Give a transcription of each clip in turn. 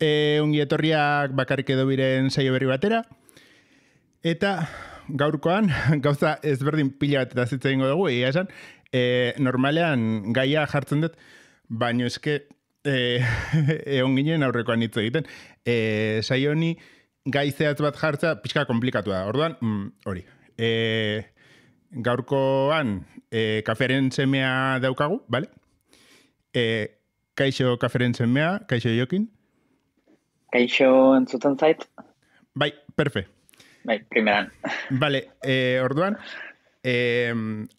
Ongi etorriak bakarrik edo biren saio berri batera. Eta gaurkoan, gauza ezberdin pila bat eta zitzen ingo dugu, egia esan, normalean gaia jartzen dut, baino eske egon ginen aurrekoan hitz egiten. Saio honi gai zehatz bat jartzea pixka komplikatu da. Orduan, hori. Gaurkoan kaferen semea daukagu, bale? Kaixo kaferen semea, kaixo Jokin. Kaixo entzuten zait? Bai, perfe. Bai, primeran. Vale, orduan,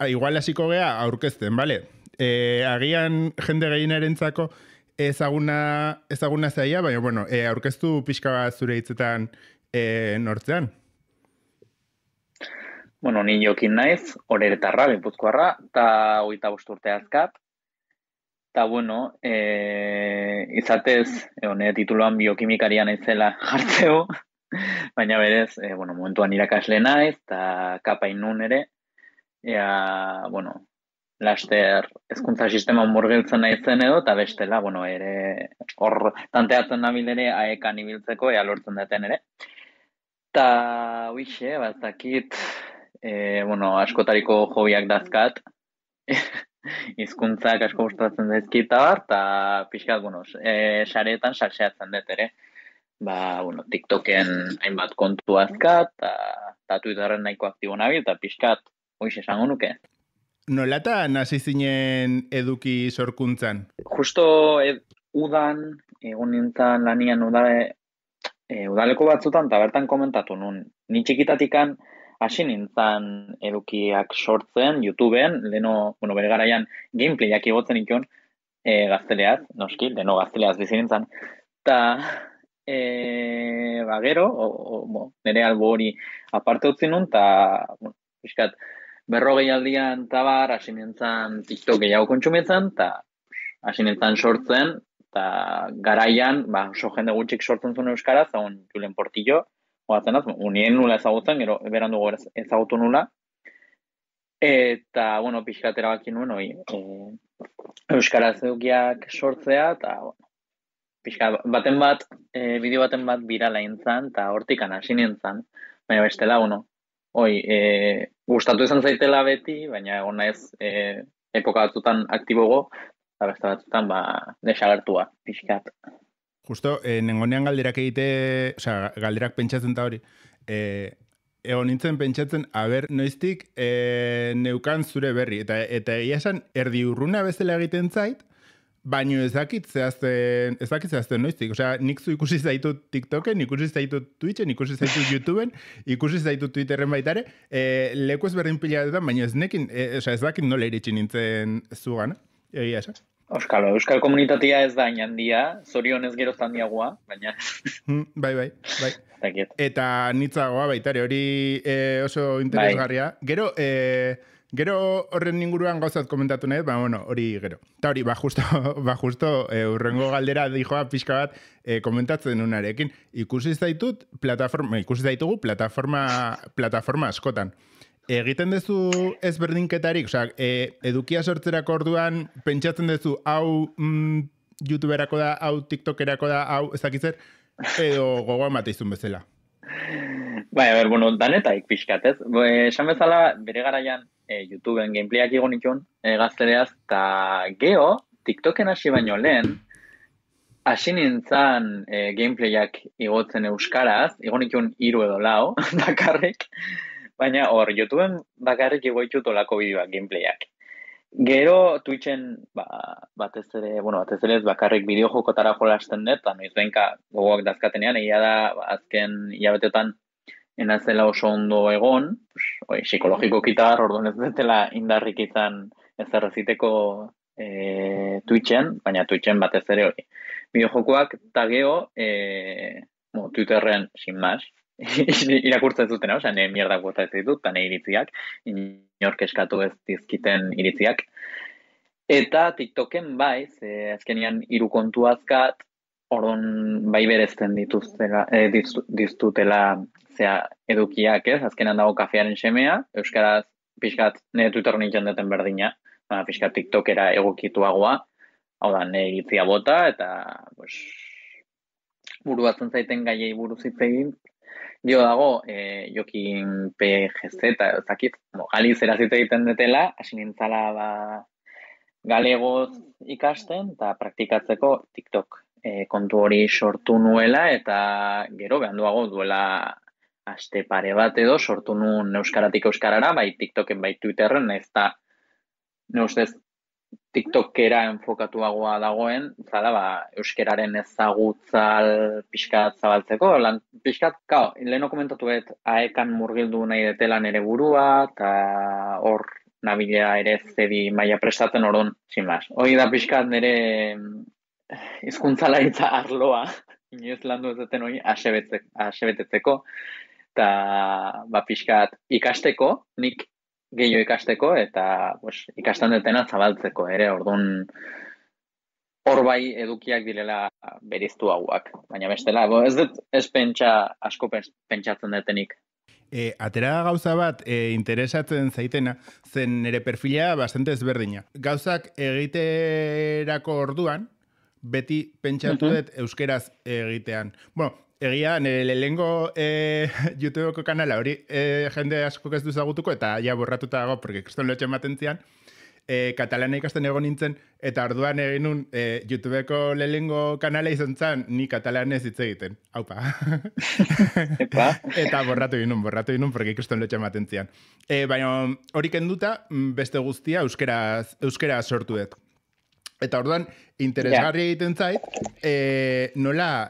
igual hasiko gea aurkezten, vale? Agian jende gehienarentzako ezaguna zaia, baina, bueno, aurkeztu pixka bat zure hitzetan nortzean. Bueno, ni Jokin naiz, Oreretarra, Gipuzkoarra, eta 25 urte azkat. Eta, bueno, izatez, nire tituloan biokimikaria naizela jartzeu, baina berez, momentuan irakasle naiz, eta kapain nun ere, bueno, laster hezkuntza sistema murgiltzen naizen edo, eta bestela, bueno, ere, hor tanteatzen nabil ere, aekan ibiltzeko, lortzen duten ere. Eta, uixe, ez dakit, askotariko hobiak dazkat, hizkuntzak asko gustatzen zaizkit eta pixkat, sareetan salseatzen dut ere. TikToken hainbat kontu azkat, eta Twitterren nahiko aktibo nabil, eta pixkat, hoiz esango nuke. Nolata hasi zinen eduki sorkuntzan? Justo udan, egon nintzen lanian udaleko batzutan, eta bertan komentatu nun. Ni txikitatikan hasi nintzen edukiak sortzen, YouTubeen, leno, bere garaian gameplayak igotzen ikon, gazteleaz, noski, leno gazteleaz bizi nintzen. Eta, gero, nire albo hori aparte utzi nun, eta, pixkat, 40 aldian tabar, hasi nintzen TikTok gehiago kontsumitzen, eta hasi nintzen sortzen, eta garaian, oso jende gutxik sortzen zuen euskaraz, egon Julen Portillo, unien nula ezagutzen, gero berandu ezagutu nula. Eta, pixkat erabaki nuen, euskaraz edukiak sortzea, eta, pixkat bideo baten bat birala intzan, eta hortikan hasi nintzen. Baina bestela, gustatu izan zaitela beti, baina egon naiz epoka batzutan aktibogo, eta beste batzutan, desagertua, pixkat. Justo, nengonean galderak galderak pentsatzen da hori, egon nintzen pentsatzen, noiztik neukan zure berri, eta egia esan, erdi urruna bezala egiten zait, baino ez dakit zehazten noiztik. Osea, nik zu ikusi zaitut TikToken, ikusi zaitut Twitchen, ikusi zaitut YouTubeen, ikusi zaitut Twitterren baitare, leku ez berdin pilatetan, baino ez nekin, ez dakit nola iritsi nintzen zugan, egia esan. Euskal komunitatea ez da handia, zorionez gero handiagoa, baina... Bai. Eta nitzagoa baitare, hori oso interesgarria. Gero horren inguruan gauzat komentatu nahi, hori gero. Eta hori, justo urrengo galdera dijoa pixka bat komentatzen unarekin. Ikusi zaitugu plataforma askotan. Egiten duzu ezberdinketarik, edukia sortzerako orduan pentsatzen duzu hau YouTuberako da, hau TikTokerako da, hau ezakitzer, edo gogoan bateizun bezala? Danetak pixkat, ez? Esan bezala, bere garaian YouTubeen gameplayak igon ikon gazteleaz, eta geho, TikToken hasi baino lehen, hasi nintzen gameplayak igotzen euskaraz, igon ikon 3 edo 4, bakarrik, baina hor, YouTubeen bakarrik igoitut olako bideoak, gameplayak. Gero, Twitchen, batez ere ez bakarrik bideo jokotara jolasten dut, eta noiz benka gogoak dazkatenean, egia da, azken hilabetetan enazela oso ondo egon, psikologiko kitar, orduan ez dutela indarrik izan ezerreziteko Twitchen, baina Twitchen batez ere hori. Bideo jokoak, eta geho, Twitterren, sin más, irakurtzen zutena, nire mierdak bota ez ditut, eta nire iritziak, inork eskatu ez dizkiten iritziak. Eta TikToken azkenian 3 kontu azkat, orduan bai berezten diztutela edukiak, ez? Azkenan dago kafearen semea, euskaraz pixkat nire Twitter nintzen duten berdina, pixkat TikTokera egokituagoa, hau da, nire iritzia bota, eta buruatzen zaiten gaiei buruz hitz egin. Dio dago, Jokin PGZ, eta ezakit, galizera hitz egiten detela, hasi nintzala galegoz ikasten, eta praktikatzeko TikTok kontu hori sortu nuela, eta gero behanduago duela aste pare bat edo sortu nuen euskaratik euskarara, bai TikToken, bai Twitterren, ez da, ne ustez, TikTokera enfokatuagoa dagoen, zala, euskararen ezagutza pixkat zabaltzeko, pixkat, leheno komentatu aekan murgildu nahi detela nere burua, eta hor nabilea ere zedi maila prestatzen orduan, sin más. Hoi da pixkat nere hizkuntzalaritza arloa, inoez landu ez duten hori, asebetetzeko, eta pixkat ikasteko, nik gehiago ikasteko, eta ikasten detena zabaltzeko ere, orduan hor bai edukiak direla beriztuagoak, baina bestela, ez dut ez asko pentsatzen detenik. Atera gauza bat interesatzen zaitena, zen nire perfila bastante ezberdina. Gauzak egiterako orduan, beti pentsatu dut euskeraz egitean. Bueno, egia, nire lehengo YouTubeko kanala hori jende asko ez duzagutuko, eta ja borratuta dago, porque kriston lotxe ematen zian, katalana ikasten egon nintzen, eta orduan egin nun YouTubeko lehengo kanala izan zen, ni katalanez hitz egiten. Haupa. Eta borratu ginen, porque kriston lotxe ematen zian. Baina hori kenduta, beste guztia euskera sortu dut. Eta orduan, interesgarri egiten zait, nola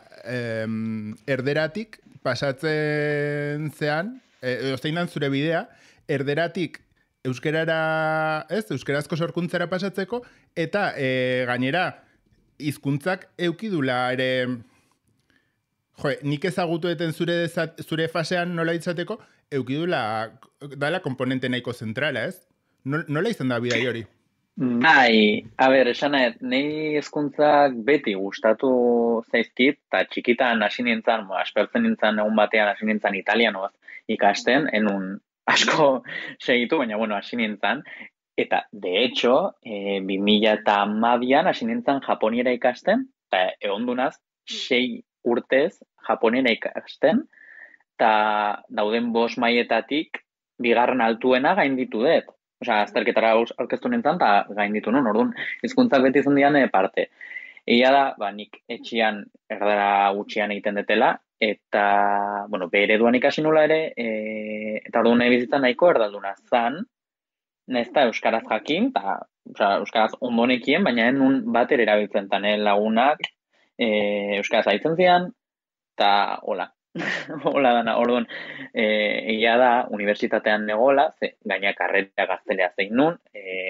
erderatik pasatzen zean, zein dan zure bidea, erderatik euskerazko sorkuntzara pasatzeko, eta gainera, hizkuntzak eukidula ere, nik ezagutu eten zure fasean nola izateko, eukidula dala komponente nahiko zentrala, ez? Nola izan da bidai hori? Bai, esan nahi hizkuntzak beti gustatu zaizkit, eta txikitan hasi nintzen, aspertzen nintzen egun batean hasi nintzen italianoaz ikasten, enun asko segitu, baina hasi nintzen, eta de hecho, 2012an hasi nintzen japoniera ikasten, eta egondunaz 6 urtez japoniera ikasten, eta dauden 5 mailetatik bigarren altuena gainditu dut. Osea, azterketara aurkeztu nintzen, eta gainditu nun, orduan, hizkuntzak beti izan dian parte. Egia da, nik etxian erdara gutxian egiten detela, eta, bere duan ikasi nula ere, eta orduan nahi bizitzan nahiko erdalduna zan, nahizta euskaraz jakin, eta euskaraz ondonekien, baina nun bat ere erabiltzen, eta lagunak euskaraz haitzen zian, eta hola. Hola dana, orduan, egia da, unibertsitatean negola, gaina karrera gaztelea zein nun,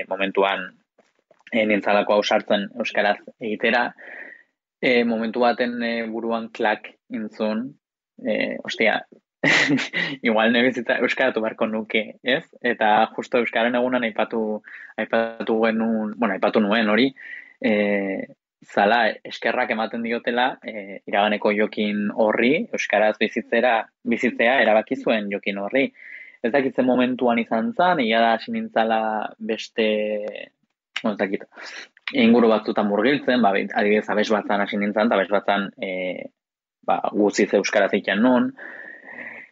momentuan nintzalako hau sartzen euskaraz egitera, momentu baten buruan klak intzun, igual nebizitza euskaratu barko nuke, ez? Eta justo euskaren egunan aipatu nuen hori, zala eskerrak ematen diotela iraganeko Jokin horri, euskaraz bizitzea erabaki zuen Jokin horri. Ez dakitzen momentuan izan zen, egia da hasi nintzala beste, inguru batzutan murgiltzen, adibidez abes batzan hasi nintzen, eta abes batzan guziz euskaraz egiten nun.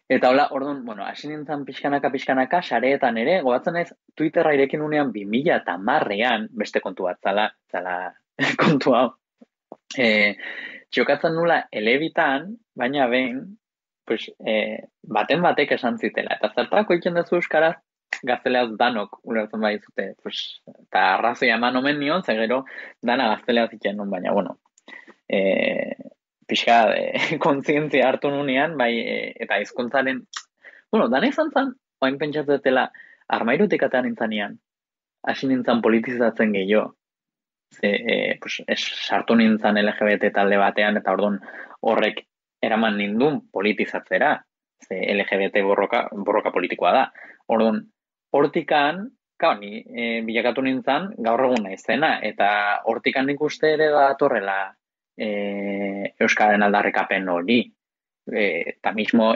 Eta hola, orduan, hasi nintzen pixkanaka, sareetan ere, gogatzen ez, Twitterra irekin unean 2010an, beste kontu bat, zala kontu hau. Txokatzen nula elebitan, baina behin, baten batek esan zitela. Eta zertako iken dezu euskaraz, gazteleaz danok ulertzen bai zute. Eta arrazoi eman omen nion, zegero dana gazteleaz iken nun, baina, pixka kontzientzia hartu nunean, bai, eta hizkuntzaren, dana izan zen, oain pentsatzetela, armairutik atean nintzanean, hasi nintzen politizatzen gehiago. Sartu nintzen LGBT talde batean, eta orduan horrek eraman nindun politizatzera, LGBT borroka politikoa da. Orduan, hortikan, ni bilakatu nintzen gaur egun naizena, eta hortikan nik uste ere da torrela Euskaren aldarrikapen hori. Eta mismo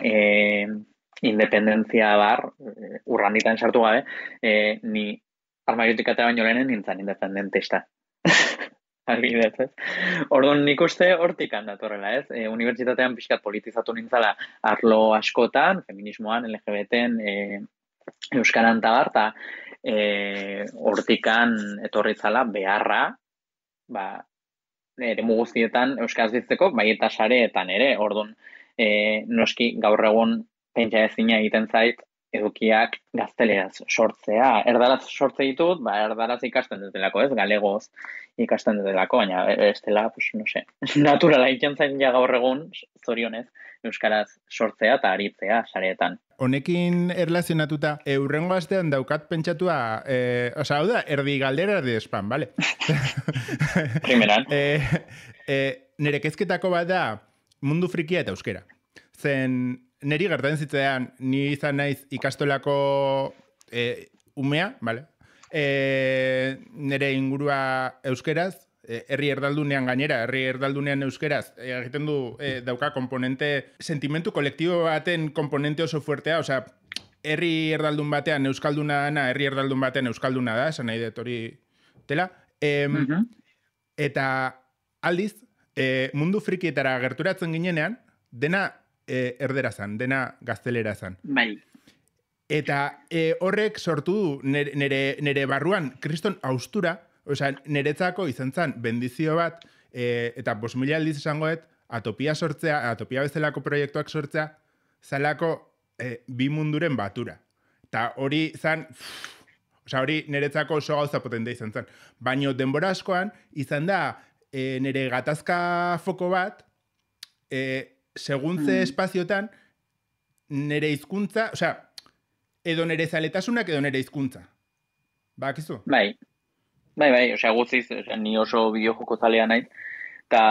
independentzia bar, urranditan sartu gabe, ni armariotik atea baino lehenen nintzen independentista. adibidez, ez? Orduan nik uste hortikan datorrela, ez? Unibertsitatean pixkat politizatu nintzala arlo askotan, feminismoan, LGBT-en, euskaran eta hortikan etorritzala beharra, eremu guztietan euskaraz bizitzeko, bai eta sareetan ere, orduan, noski gaur egun pentsa ezina egiten zait, edukiak gazteleraz sortzea. Erdaraz sortze ditut, erdaraz ikasten dutelako, ez? Galegoz ikasten dutelako, baina ez dela, pues, no sé, naturala egiten zain ja gaur egun, zorionez, euskaraz sortzea eta aritzea sareetan. Honekin erlazionatuta, urrengo astean daukat pentsatua, hau da, erdi galdera, erdi spam, bale? Primeran. Nere kezketako bat da mundu frikia eta euskera. Zen, neri gertatzen zitzean, ni izan naiz ikastolako umea, bale? Nere ingurua euskeraz, herri erdaldunean gainera, herri erdaldunean euskeraz, egiten du dauka komponente, sentimentu kolektibo baten komponente oso fuertea, osea, herri erdaldun batean euskalduna dana, herri erdaldun batean euskalduna da, esan nahi dut hori dela. Eta aldiz, mundu frikietara gerturatzen ginenean, dena erderazan, dena gaztelerazan. Bai. Eta horrek sortu du nere barruan kriston haustura, osea, niretzako izan zen bendizio bat, eta 5.000 aldiz esangoet, atopia sortzea, atopia bezalako proiektuak sortzea, zalako bi munduren batura. Eta hori zen, hori niretzako oso gauza potente izan zen. Baina denbora askoan, izan da, nire gatazka foko bat, seguntze espaziotan, nire hizkuntza, osea, edo nire zaletasunak edo nire hizkuntza. Bakizu? Bai, osea, guztiz, ni oso bideojoko zalea naiz, eta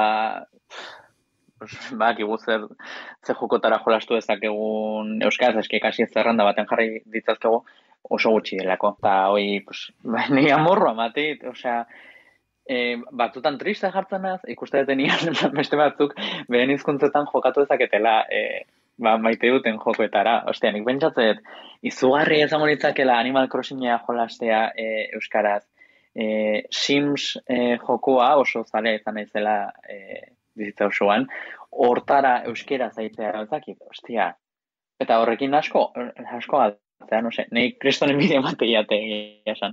bakigu zer jokotara jolastu dezakegun euskaraz, eski kasi zerrenda baten jarri ditzazkegu oso gutxi delako. Eta hoi, nire amorroa matit, osea, batzutan triste jartzen az, ikuste detenian beste batzuk beren hizkuntzetan jokatu dezaketela maite duten jokoetara. Ostia, nik pentsatzet, izugarri izango nitzakela Animal Crossinga jolastea euskaraz. Sims jokoa oso zale izan naizela bizitza osoan, hortara euskera zaitzea ezakit, ostia. Eta horrekin asko altzea, no sé, nahi kristonen bideo mateiate esan.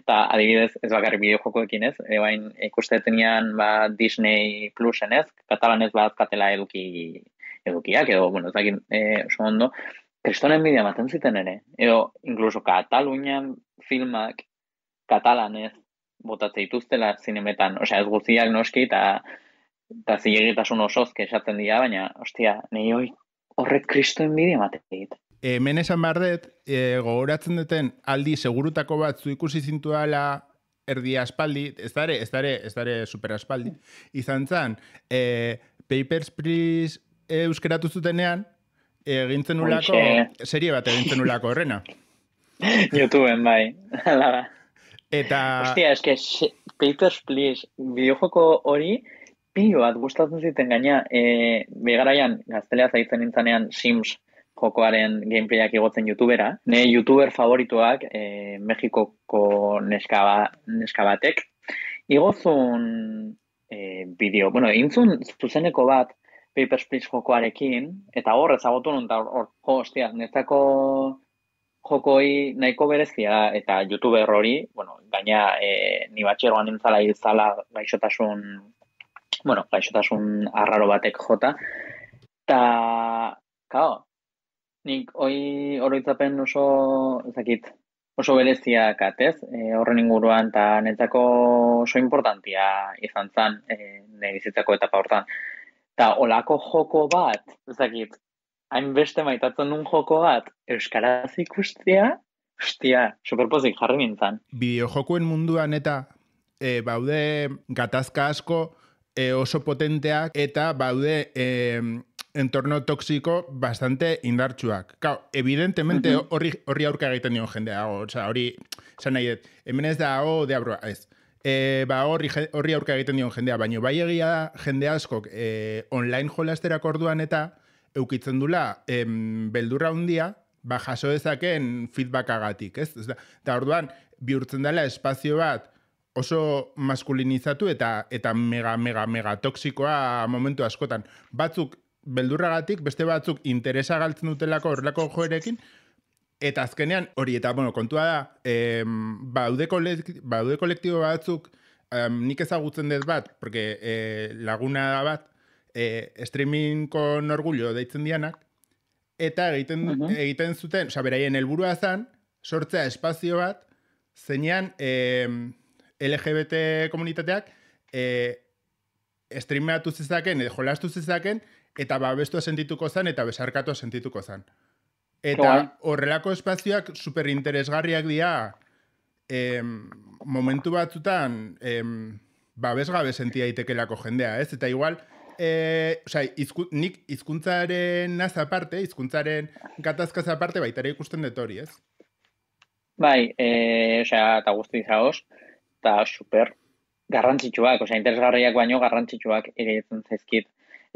Eta adibidez, ez bakarrik bideo jokoekin ez, bain ikustetenean Disney Plusen ez, katalanez badazkatela edukiak, edo, bueno, ezakit oso ondo, kristonen bideo maten ziten ere, edo, inkluso Katalunian filmak katalanez botatze dituztela zinemetan, osea, ez guztiak noski, eta zilegitasun osozke esaten dira, baina, ostia, nahi horrek kristoen bideo maten Hemen esan behar dut, gogoratzen duten aldi segurutako bat zu ikusi zintuala erdi aspaldi, ez dare super aspaldi, izan zen, Papers, Please euskeratu zutenean, egintzen ulako, serie bat egintzen ulako horrena. YouTubeen, bai, ala. Eta... Ostia, eske, Papers, Please, bideojoko hori, pilo bat gustatzen ziten gaina, begaraian, gaztelea zaitzen nintzanean Sims jokoaren gameplayak igotzen YouTubera. Ne YouTuber favorituak, Mexikoko neska batek, igozun bideo, bueno, intzun zuzeneko bat Papers, Please jokoarekin, eta hor ezagotu nun, eta hostia, netzako jokoi nahiko berezia eta YouTuber hori, bueno, gaina ni batxeroan nintzala izala gaixotasun arraro batek jota, eta, kao, nik oroitzapen oso bereziak atez, horren inguruan, eta netzako oso importantia izan zen, nire bizitzako etapa hortan. Eta olako joko bat, hainbeste maitatzen duen joko bat, euskaraz ikustea, ostia, superpozik jarri nintzen. Bideojokoen munduan eta baude gatazka asko oso potenteak eta baude entorno toxiko bastante indartsuak. Claro, evidentemente horri aurka egiten dion jendea, hori, esan nahi dut, hemen ez da deabroa, ez. Horri aurka egiten dion jendea, baina bai egia da jende askok online jolasterako orduan eta eukitzen dula beldurra hundia, jaso dezakeen feedbackagatik, ez? Eta orduan, bihurtzen dela espazio bat oso maskulinizatu eta mega toksikoa momentu askotan. Batzuk beldurragatik, beste batzuk interesa galtzen dutelako horrelako joerekin, eta azkenean hori, eta kontua da, baude kolektibo batzuk, nik ezagutzen dut bat, porque laguna da bat, streaming con orgullo deitzen dianak, eta egiten zuten, beraien helburua zen, sortzea espazio bat, zeinean LGBT komunitateak streameatu zezaken, jolastu zezaken, eta babestua sentituko zen, eta besarkatua sentituko zen. Eta horrelako espazioak superinteresgarriak dira momentu batzutan babesgabe sentia daitekelako jendea, ez? Eta igual, nik hizkuntzaren naz aparte, hizkuntzaren gatazkaz aparte, baitare ikusten dut hori, ez? Bai, eta guzti zagoz, eta super garrantzitsuak, interesgarriak baino garrantzitsuak egiten zaizkit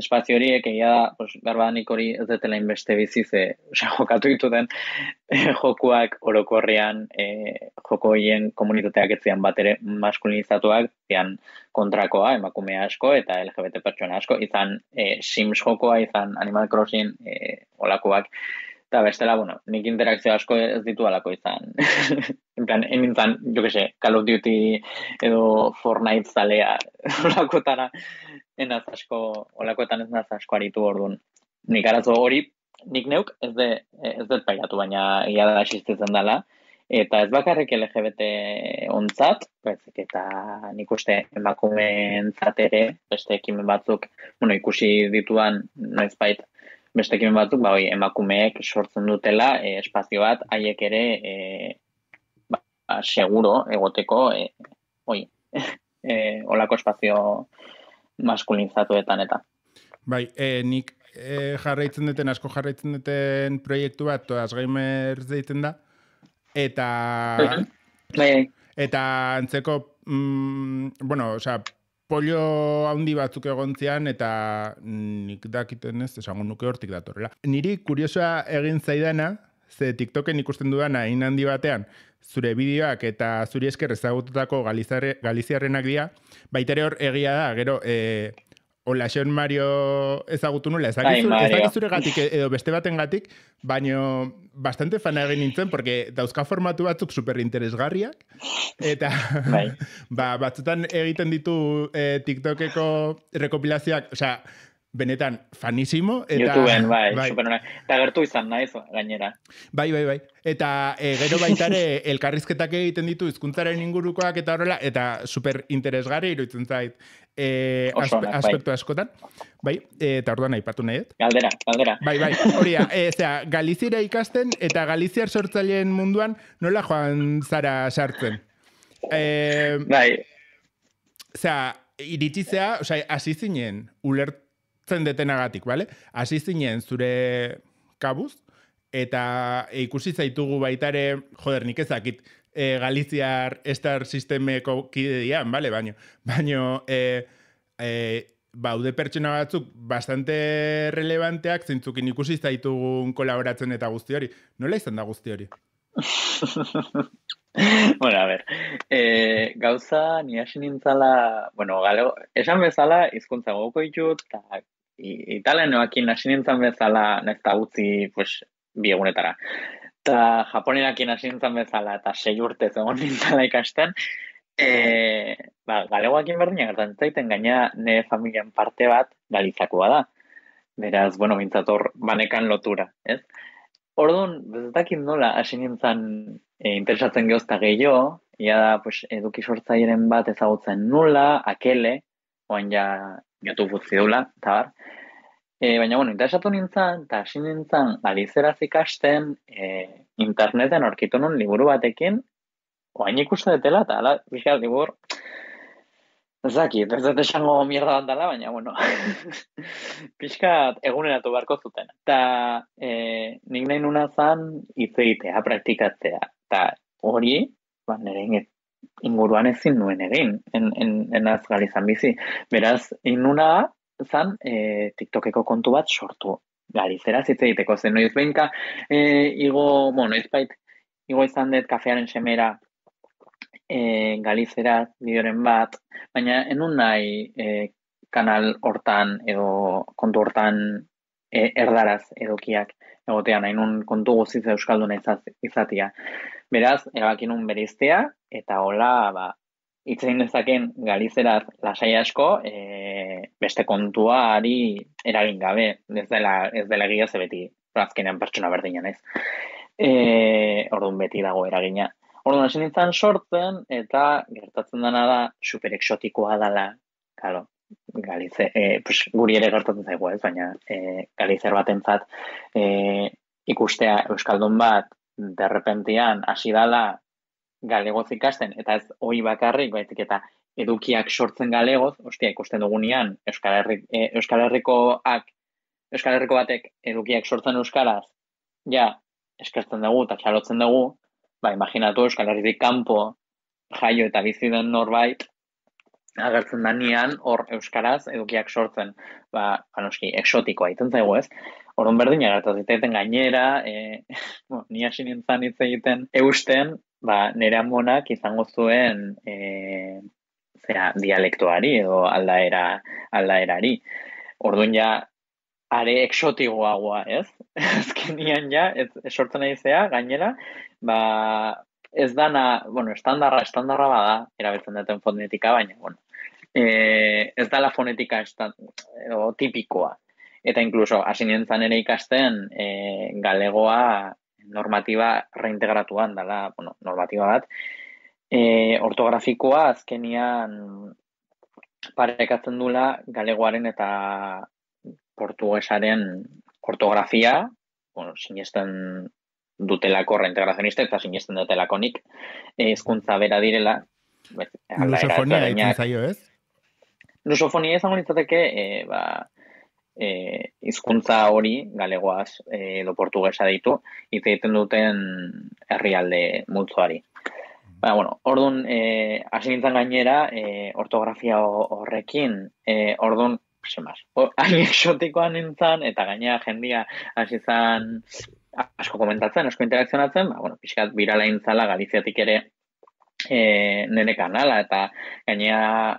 espazio horiek, egia da, berbadanik hori ez detela inbeste biziz, jokatu dituten jokuak orokorrean, joko horien komunitateak etzian bat ere maskulinizatuak, zian kontrakoa, emakume asko eta LGBT pertsona asko, izan Sims jokoa, izan Animal Crossing olakoak, eta bestela, nik interakzio asko ez ditu alako izan. En plan, enintzan, jo que se, Call of Duty edo Fortnite zalea olakotara olakoetan ez naz asko aritu orduan. Nik arazo hori, nik neuk ez dut pairatu, baina ia da existitzen dela. Eta ez bakarrik LGBT ontzat, eta nik uste emakumeentzat ere, beste ekimen batzuk, ikusi dituan, noizbait, beste ekimen batzuk, emakumeek sortzen dutela espazio bat, haiek ere seguro egoteko olako espazio maskulinizatuetan eta. Bai, nik asko jarraitzen duten proiektu bat, Todas Gamers deitzen da, eta antzeko, pollo handi batzuk egontzean, eta nik dakiten ez, esango nuke hortik datorrela. Niri kuriosoa egin zaidana, ze TikToken ikusten dudana hain handi batean, zure bideoak eta zuri esker ezagututako galiziarrenak dira, baitere hor egia da, gero, Olaxon Mario ezagutu nula, ez dakit zure gatik edo beste baten gatik, baino bastante fana egin nintzen, porque dauzka formatu batzuk superinteresgarriak, eta batzutan egiten ditu TikTokeko rekopilazioak, benetan fanisimo. YouTubeen, superona. Eta gertu izan naiz, gainera. Bai. Eta gero baitare elkarrizketak egiten ditu hizkuntzaren ingurukoak eta horrela, eta superinteresgarri iruditzen zait aspektu askotan. Bai, eta orduan aipatu nahi. Galdera. Bai, hori da. Galiziera ikasten eta galiziar sortzaileen munduan nola joan zara sartzen? Bai. Iritzizea, hasi zinen ulertzen detenagatik, bale? Hasi zinen zure kabuz, eta ikusi zaitugu baitare, nik ezakit, Galiziar Star Sistemeko kide dian, bale? Baino, baude pertsona batzuk bastante relevanteak zintzukin ikusi zaitugun kolaboratzen eta guzti hori. Nola izan da guzti hori? Bueno, a ver, gauza ni hasi nintzala, esan bezala hizkuntza gogoko ditut, eta italianoekin hasi nintzen bezala, nesta utzi, bi egunetara. Eta japonerekin hasi nintzen bezala, eta 6 urte egon nintzala ikasten, galegoakin berdinak gertatzen zaiten, gaina nire familian parte bat galizakoa da. Beraz, mintzator banekan lotura, ez? Orduan, bezatakit nola hasi nintzen interesatzen geozta gehiago, ia da, eduki sortzaileen bat ezagutzen nula, akele, oan ja YouTube utzi dula, eta bar. Baina, interesatu nintzen, eta hasi nintzen galizeraz ikasten interneten aurkitu nun liburu batekin, oain ikusten detela, eta ala, bizkal, libur, ez dut esango mierda bat dela, baina, pixkat eguneratu beharko zuten. Eta nik nahi nuna zan hitz egitea, praktikatzea. Eta hori, nire inguruan ezin nuen egin, enaz galizan bizi. Beraz, nuna zan TikTokeko kontu bat sortu. Galizeraz hitz egiteko zen. Noiz behinka, noizbait, igo izan dut kafearen semera galizeraz bideoren bat, baina enun nahi kanal hortan edo kontu hortan erdaraz edukiak egotea, nahi nun kontu guziz euskalduna izatia. Beraz, erabakinun bereiztea, eta hola, hitz egin dezaken galizeraz lasai asko, beste kontuari eragin gabe, ez dela egia ze beti, azkenean pertsona berdinan ez. Orduan beti dago eragina. Orduan hasi nintzen sortzen, eta gertatzen dena da, super exotikoa dela, claro, guri ere gertatzen zaigu ez, baina galizer batentzat ikustea euskaldun bat derrepentian hasi dala galegoz ikasten, eta ez hori bakarrik, baizik eta edukiak sortzen galegoz, ikusten dugunean Euskal Herriko batek edukiak sortzen euskaraz, ja, eskertzen dugu eta txalotzen dugu, imaginatu Euskal Herritik kanpo jaio eta bizi den norbait, agertzen danean hor euskaraz edukiak sortzen, noski, exotikoa iten zaigu ez. Orduan berdina gertatzen gainera, ni hasi nintzen hitz egiten eusten, nire amonak izango zuen dialektoari edo aldaerari. Orduan ja, are exotikoagoa, ez? Azkenian ja, sortzen nahi zea, gainera, ez dana, estandarra bada, erabiltzen duten fonetika, baina, ez dala fonetika tipikoa. Eta inkluso, hasi nintzen ere ikasten, galegoa normatiba reintegratuan dela, normatiba bat, ortografikoa azkenian parekatzen dula galegoaren eta portugesaren ortografia, sinesten dutelako reintegrazionista eta sinesten dutelako nik hizkuntza bera direla. Lusofonia egiten zaio, ez? Lusofonia izango litzateke hizkuntza hori galegoaz edo portugesa deitu hitz egiten duten herrialde multzoari. Orduan, hasi nintzen gainera, ortografia horrekin, orduan, hain exotikoa nintzen, eta gainera jendia hasi zen asko komentatzen, asko interakzionatzen, pixkat birala intzala Galiziatik ere nire kanala, eta gainera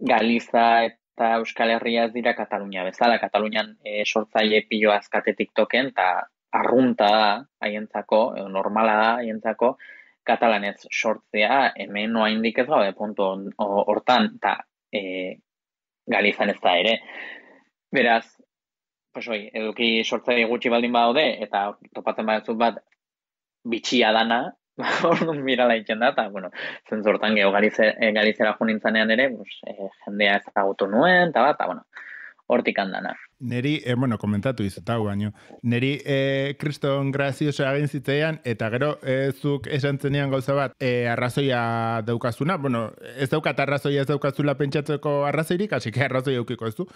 Galiza eta Euskal Herria ez dira Katalunia bezala. Katalunian sortzaile pilo azkate TikToken, eta arrunta da haientzako, normala da haientzako, katalanez sortzea, hemen noa indik ez gaude puntu hortan, eta Galizan ez da ere. Beraz, eduki sortzaile gutxi baldin badaude, eta topatzen batzuk bat bitxia dana, orduan mirala itzen da, eta, zentzortan geho Galizera jo nintzanean ere, jendea ezagutu nuen, eta hortik handana. Neri, komentatu izatau baino, neri kriston grazioso egin zitzaian, eta gero zuk esan zenean gauza bat, arrazoia daukazuna, ez daukat arrazoia ez daukazula pentsatzeko arrazoirik, hasi que arrazoi eukiko ez du,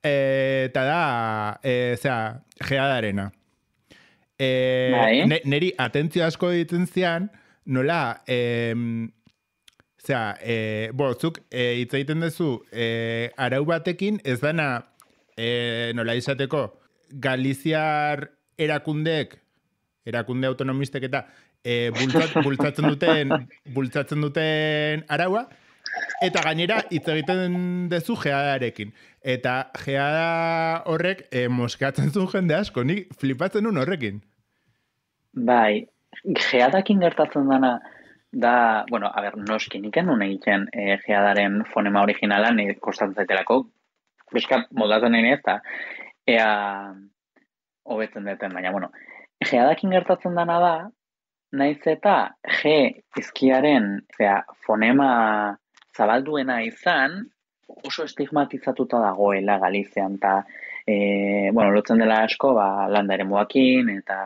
eta da, geadarena. Neri atentzio asko ditzen zian, nola, zuk hitz egiten duzu arau batekin ez dana nola izateko Galiziar erakunde autonomistek eta bultzatzen duten araua, eta gainera hitz egiten duzu geadarekin. Eta geada horrek moskatzen zuen jende asko, nik flipatzen nun horrekin. Bai, geadakin gertatzen dana da, noski, nik enun egiten geadaren fonema originala, nire kostatzen zaitelako, bizka moldatzen nahi ez, eta ea hobetzen duten, baina, geadakin gertatzen dana da, naiz eta G izkiaren fonema zabalduena izan, oso estigmatizatuta dagoela Galizian, eta lotzen dela asko, landa ere muakin, eta,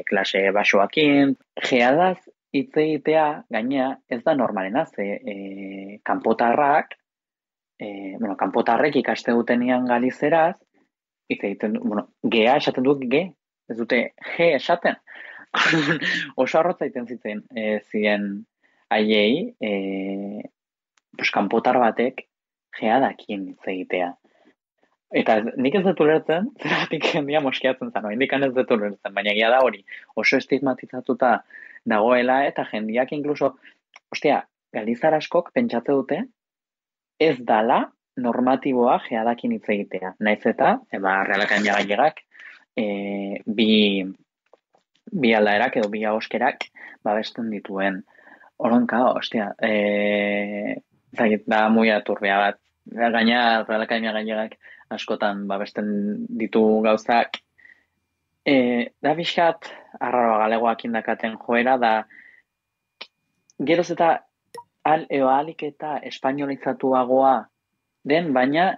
klase basoakin. Geadaz hitz egitea, gainea, ez da normalena, ze kanpotarrak ikaste dutenian Galizeraz, hitz egiten, gea esaten dut ge, ez dute G esaten. Oso arrotza egiten ziren haiei, kanpotar batek geadakien hitz egitea. Eta nik ez dut ulertzen, zeratik jendia moskeatzen zen, indikan ez dut ulertzen, baina egia da hori oso estigmatizatuta dagoela, eta jendiak inkluso galizar askok pentsatze dute, ez dala normatiboa geadakin hitz egitea. Naiz eta, Real Akademia Gallegak, bi aldaerak edo bi ahoskerak babesten dituen. Oronka, da muy aturbia bat. Gaina Real Akademia Gallegak askotan babesten ditu gauzak. Da bizkat, arraroa galegoak indakaten joera, da geroz eta ahalik eta espainolizatuagoa den, baina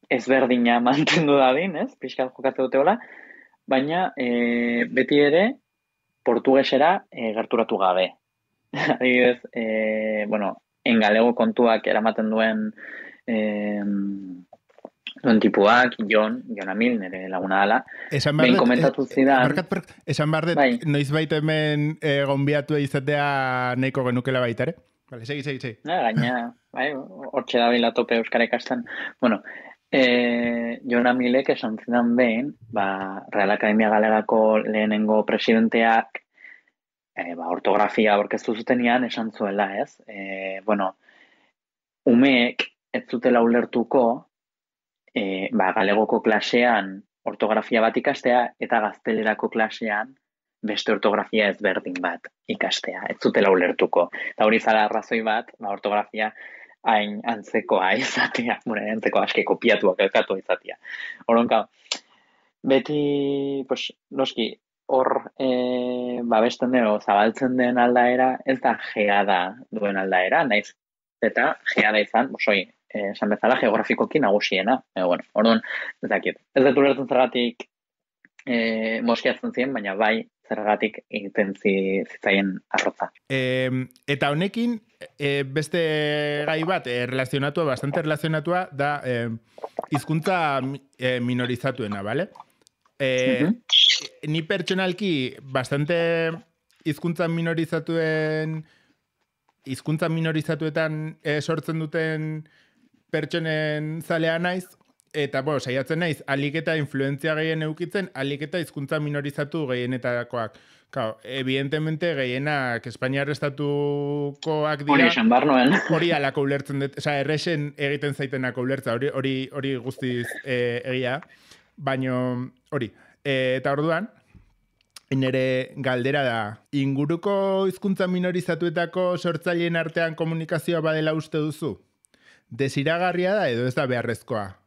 ezberdina mantendu dadin, ez? Bizkat jokatze duteola, baina beti ere portugesera gerturatu gabe. Adibidez, engalego kontuak eramaten duen tipuak, Jon Amil, nire laguna dala, behin komentatu zidan... Esan behar dut, noiz baita hemen gonbiatu izatea nahiko genukela baita, ere? Vale, segi. Gaina, hortxe da bila tope euskara ikasten. Jon Amilek esan zidan behin, Real Akademia Galegako lehenengo presidenteak ortografia aurkeztu zutenean esan zuela, ez? Umeek ez zutela ulertuko galegoko klasean ortografia bat ikastea eta gaztelerako klasean beste ortografia ezberdin bat ikastea. Ez zutela ulertuko. Eta hori zara arrazoi bat, ortografia hain antzekoa izatea, antzeko aske kopiatuak elkatu izatea. Horonka, beti, noski, hor babesten den, zabaltzen den aldaera, ez da geada duen aldaera, naiz eta geada izan, esan bezala geografikoki nagusiena. Orduan, ez dakit. Ez dut ulertzen zergatik moskiatzen ziren, baina bai zergatik egiten zitzaien arrotza. Eta honekin, beste gai bat, bastante relazionatua, da hizkuntza minorizatuena, bale? Ni pertsonalki bastante hizkuntza minorizatuetan sortzen duten pertsonen zalea naiz, eta saiatzen naiz, alik eta influentzia gehien eukitzen, alik eta hizkuntza minorizatu gehienetakoak. Evidentemente, gehienak Espainiar estatukoak dira. Hori esan bar noen. Hori alako ulertzen dut, erresen egiten zaitenako ulertza, hori guztiz egia, baino hori. Eta orduan, nire galdera da, inguruko hizkuntza minorizatuetako sortzaileen artean komunikazioa badela uste duzu? Desiragarria da edo ez da beharrezkoa?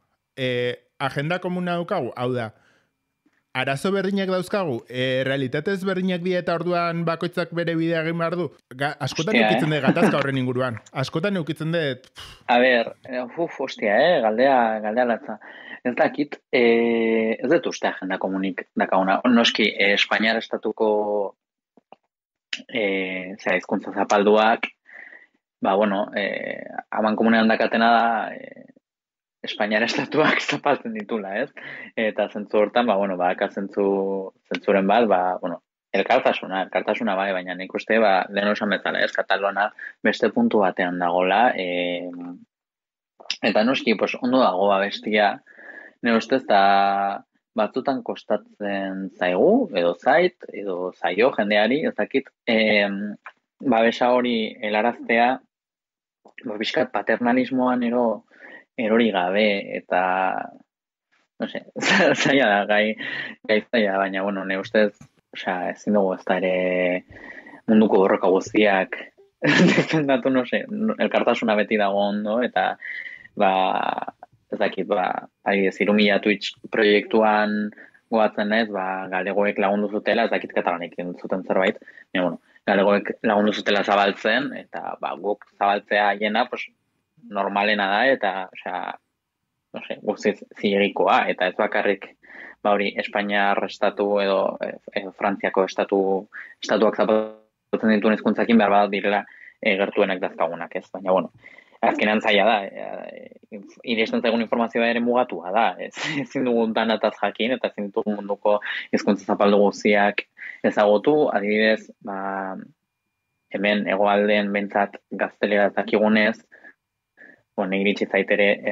Agenda komuna daukagu, hau da, arazo berdinak dauzkagu, realitatez berdinak dira eta orduan bakoitzak bere bidea egin behar du? Askotan eukitzen dut gatazka horren inguruan. Askotan eukitzen dut... Galdea latza. Ez dakit, ez dut uste agenda komunik dakaguna. Noski, Espainiar estatuko hizkuntza zapalduak, aman komunean dakatena da Espainiar estatuak zapaltzen ditula, ez? Eta zentzu hortan, zentzuren bat, elkartasuna bai, baina nik uste, lehen osan bezala, ez? Katalona beste puntu batean dagola, eta noski, ondo dago bestia, nire ustez, da batzutan kostatzen zaigu, edo zait, edo zaio jendeari, ez dakit, babesa hori helaraztea, bizkat paternalismoan erori gabe, eta, zaila da, gai zaila, baina, nire ustez, ezin dugu ez da ere munduko borroka guztiak defendatu, elkartasuna beti dago ondo, eta, ez dakit, Irumila Twitch proiektuan goatzen naiz, galegoek lagundu zutela, ez dakit katalanek zuten zerbait, galegoek lagundu zutela zabaltzen, eta guk zabaltzea jena, normalena da, eta, guztiz zilegikoa, eta ez bakarrik, Espainiar estatu edo Frantziako estatuak zabaltzen dituen hizkuntzakin behar bat direla gertuenak dazkagunak, ez? Baina, azkenean zaila da, iristen zaigun informazioa ere mugatua da, ezin dugun danataz jakin, eta ezin dugun munduko hizkuntza zapaldu guztiak ezagutu, adibidez, hemen hegoaldean behintzat gaztelera dakigunez, iritsi zaitere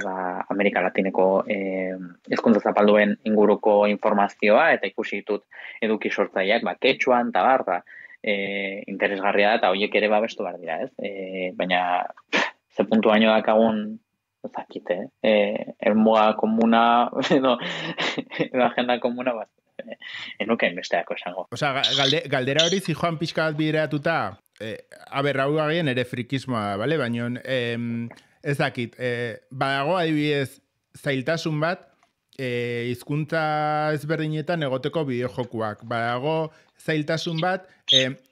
Amerika Latineko hizkuntza zapalduen inguruko informazioa, eta ikusi ditut eduki sortzaileak, ketxuan, eta interesgarria da, eta horiek ere babestu behar dira, ez? Baina, ze puntu baino dakagun, ezakite, elmuga komuna, edo agenda komuna, bat, enuken besteako esango. Osa, galdera hori zijoan pixka bat bideratuta, hau agien ere frikismoa, bale? Baina, ez dakit, badago adibidez zailtasun bat, hizkuntza ezberdinetan egoteko bideojokuak. Badago zailtasun bat,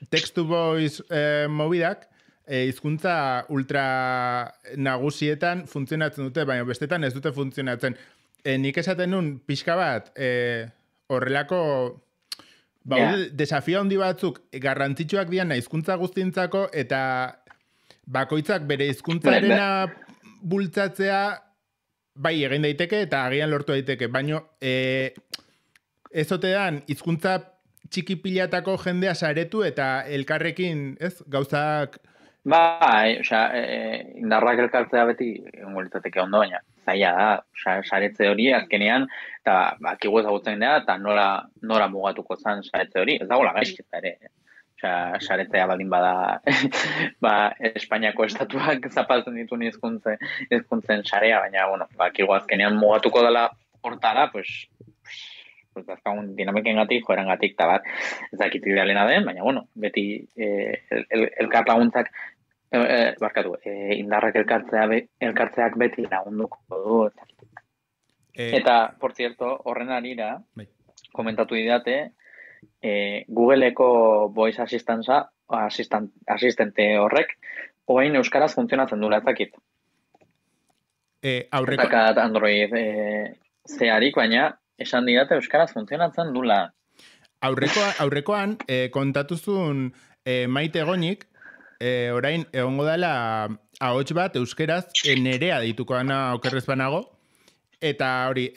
text-to-voice mobidak, hizkuntza ultra nagusietan funtzionatzen dute, baina bestetan ez dute funtzionatzen. Nik esaten nun, pixka bat, horrelako desafio handi batzuk garrantzitsuak dian hizkuntza guztientzako eta bakoitzak bere hizkuntzarena bultzatzea bai egin daiteke eta agian lortu daiteke, baina ez otean hizkuntza txiki pilatako jendea saretu eta elkarrekin, ez, gauzak... Bai, indarrak elkartzea beti litzateke ondo, baina zaila da, saretze hori azkenean, eta bakigu ezagutzen dira, eta nora mugatuko zen saretze hori, ez dagoela gaizketa ere. Saretzea baldin bada Espainiako estatuak zapaltzen dituen hizkuntzen sarea, baina, bakigu azkenean mugatuko dela hortara, pues azkagun dinamikengatik, joerangatik, eta bat, ez dakit idealena den, baina, beti elkar laguntzak, indarrak elkartzeak beti lagunduko du. Eta, por cierto, horren arira, komentatu didate, Googleeko voice asistente horrek, oain euskaraz funtzionatzen dula, ez dakit. Zakat Android zeharik, baina esan didate euskaraz funtzionatzen dula. Aurrekoan, kontatuzun Maite Goñik, orain egongo dela ahots bat euskeraz nerea dituko dana okerrez banago, eta hori,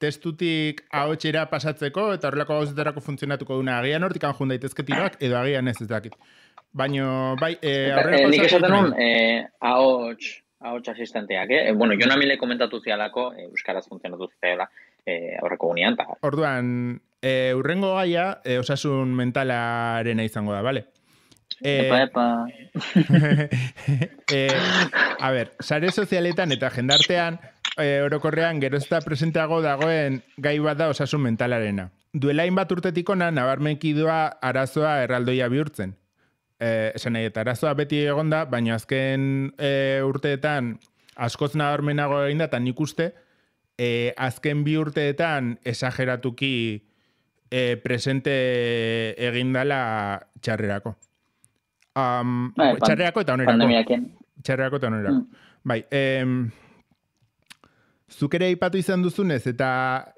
testutik ahotsera pasatzeko eta horrelako gauzetarako funtzionatuko duna. Agian hortik anjun daitezke tiroak, edo agian ez dakit. Baina, bai, aurrelako... Nik esaten nun, ahots asistenteak, Bueno, Jon Amile komentatu zialako, euskaraz funtzionatu zela aurreko gunean. Orduan, urrengo gaia, osasun mentalaren izango da, bale? Epa. A ber, sare sozialetan eta jendartean, orokorrean gerozta presenteago dagoen gai bat da osasun mentalarena. Duela hainbat urtetik ona nabarmenki doa arazoa erraldoia bihurtzen. Esan nahi, eta arazoa beti egonda, baina azken urteetan askoz nabarmenago egin da, eta nik uste, azken bi urteetan esageratuki presente egindala txarrerako. Txarrerako eta onerako. Txarrerako eta onerako. Bai, zuk ere aipatu izan duzunez eta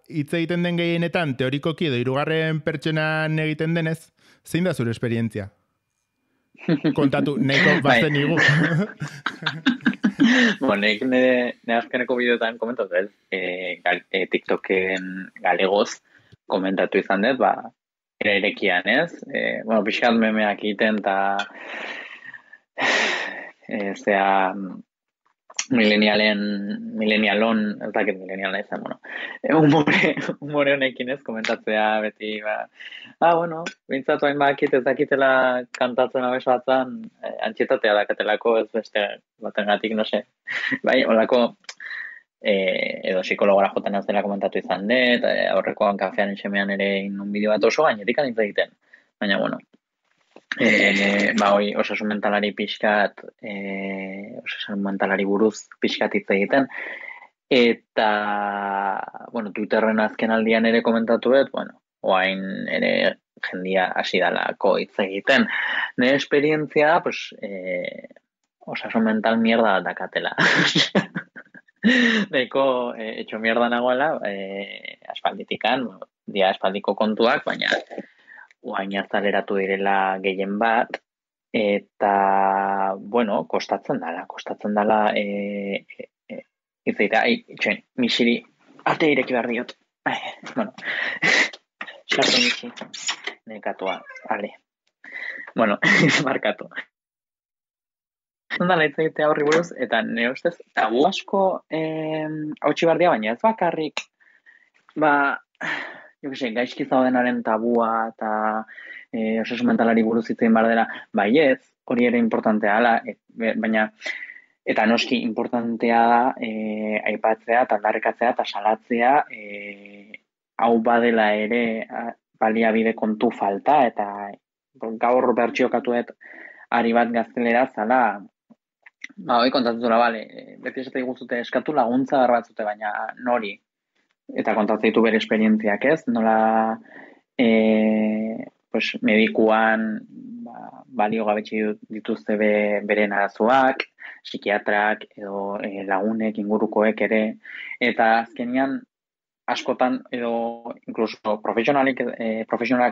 hitz egiten den gehienetan teorikoki edo hirugarren pertsonan egiten denez, zein da zure esperientzia? Kontatu, nahiko bazten igu. Nik nire azkeneko bideotan komentatu ez, TikToken galegoz komentatu izan dut, ere erekian ez, pixkat memeak egiten eta milenialon, ez dakit mileniala izan, humore honekin ez, komentatzea beti, bintzatu hain bakit ez dakitela kantatzen abez batzan, antxietatea dakatelako ez beste batengatik, no se. Bai, holako, edo psikologora jotan ez dela komentatu izan dut, aurrekoan kafean enxemean ere inun bideo bat oso gainetik anitz egiten. Baina, osasun mentalari pixkat, osasun mentalari buruz pixkat hitz egiten, eta, Twitterren azken aldian ere komentatu dut, oain ere jendia hasi dalako hitz egiten. Nire esperientzia, osasun mental mierda dakatela. Neko, etxo mierda nagoela, aspalditikan, dia aspaldiko kontuak, baina oain hartaleratu direla gehien bat, eta, kostatzen dala, izaitea, misiri, arte ireki behar diot. Sartu misi, nekatua, ale. Markatu. Zondala hitz egitea horri buruz, eta nire ustez, tabu asko hautsi behar dira, baina ez bakarrik, gaizki zaudenaren tabua eta osasun mentalari buruz hitz egin behar dela, baietz, hori ere importantea dela, baina eta noski importantea da aipatzea eta aldarrikatzea eta salatzea hau badela ere baliabide kontu falta eta gaur bertsiokatuet ari bat gaztelera zala hoi kontatuzula, beti esate guztute eskatu laguntza batzute, baina nori eta kontatzen ditu bere esperientziak ez, nola pues, medikuan balio gabetxe dituzte beren arazoak, psikiatrak edo lagunek ingurukoek ere, eta azkenian askotan edo incluso profesionalak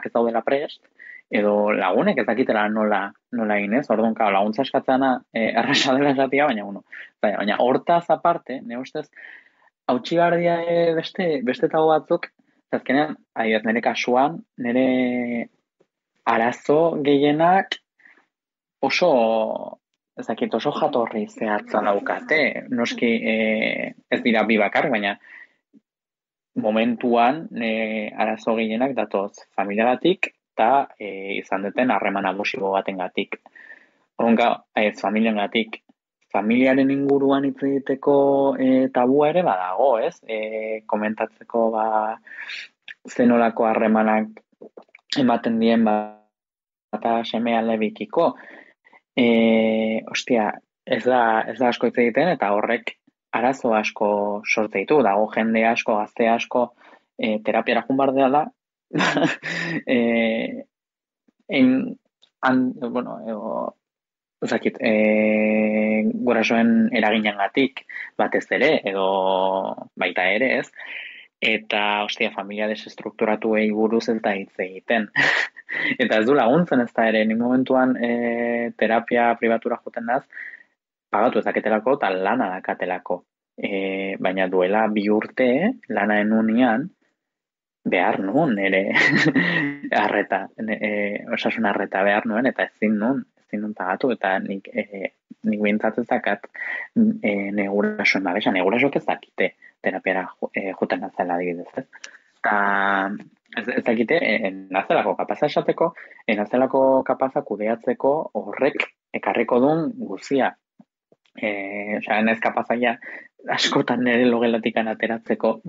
ez daudela prest, edo lagunek ez dakitela nola egin ez, orduan laguntza eskatzena erresa dela esatia, baina hortaz aparte, ne ustez, hautsi gardia beste tago batzuk, azkenean, nire kasuan, nire arazo gehienak oso jatorri zehatza daukate. Noski ez dira bi bakar, baina momentuan arazo gehienak datoz familiagatik eta izan duten harreman abusibo batengatik. Horrenka, familiengatik. Familiaren inguruan hitz egiteko tabua ere badago, ez? Komentatzeko zenolako harremanak ematen dien eta seme alebikiko. Ostia, ez da asko hitz egiten eta horrek arazo asko sortze ditu. Dago jende asko, gazte asko terapiara joan behar dela. Gurasoen eraginengatik batez ere, edo baita ere ez, eta, familia desestrukturatuei buruz ez da hitz egiten. Eta ez du laguntzen ez da ere, ni momentuan terapia pribatura joten naz, pagatu ezaketelako eta lana dakatelako. Baina duela 2 urte, lana enunian, behar nuen ere arreta, osasun arreta behar nuen, eta ezin nuen pagatu, eta nik behintzatzen zakat negurasoen babesa, negurasok ez dakite terapiara juten nazela adibidez. Eta ez dakite, nazelako kapaza esateko, nazelako kapaza kudeatzeko horrek ekarriko duen guzia. Ez kapazaia askotan nire logelatikan ateratzeko,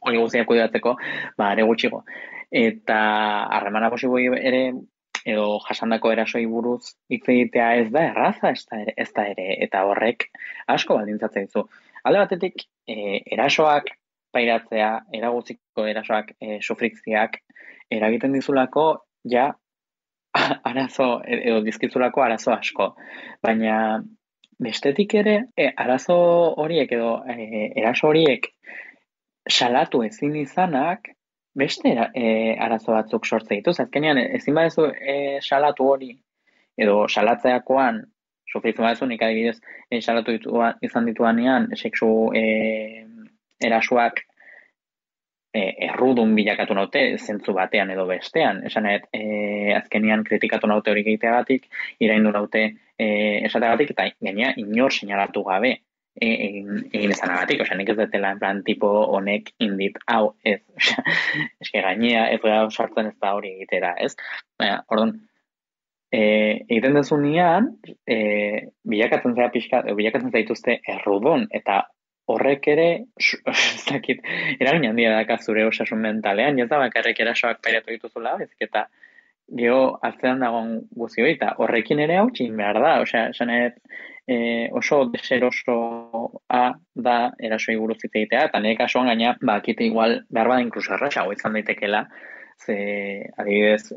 hori guztiak kudeatzeko, are gutxigo. Eta harremana posibo ere, edo jasandako erasoi buruz hitz egitea ez da erraza, ez da ere, eta horrek asko baldintzatzen dizu. Alde batetik, erasoak pairatzea, eraguziko erasoak sufrikziak, eragiten dizulako, arazo, edo dizkizulako arazo asko. Baina, bestetik ere, arazo horiek edo eraso horiek salatu ezin izanak, beste arazo batzuk sortze dituz. Azkenean, ezin badezu salatu hori, edo salatzeakoan, sufritzen badezu, nik adibidez, salatu izan dituanean, sexu erasoak errudun bilakatu naute, zentzu batean edo bestean. Esanet, azkenean kritikatu naute hori egiteagatik, iraindu naute esateagatik, eta gainea inor seinalatu gabe egin ezanagatik, nik ez detela en plan tipo honek indit hau ez, eske gainea ez gara sartzen ez da hori egitera, ez? Orduan, egiten dezunean, bilakatzen zaituzte errudun, eta horrek ere, eragin handia daka zure osasun mentalean, ez da bakarrik erasoak pairatu dituzula, ezik eta geho atzean dagoen guzioi, eta horrekin ere hau txin behar da, oso deserosoa da erasoi buruz hitz egitea, eta nire kasuan gaina, akite igual behar bada inkluso erraxago izan daitekela, ze adibidez,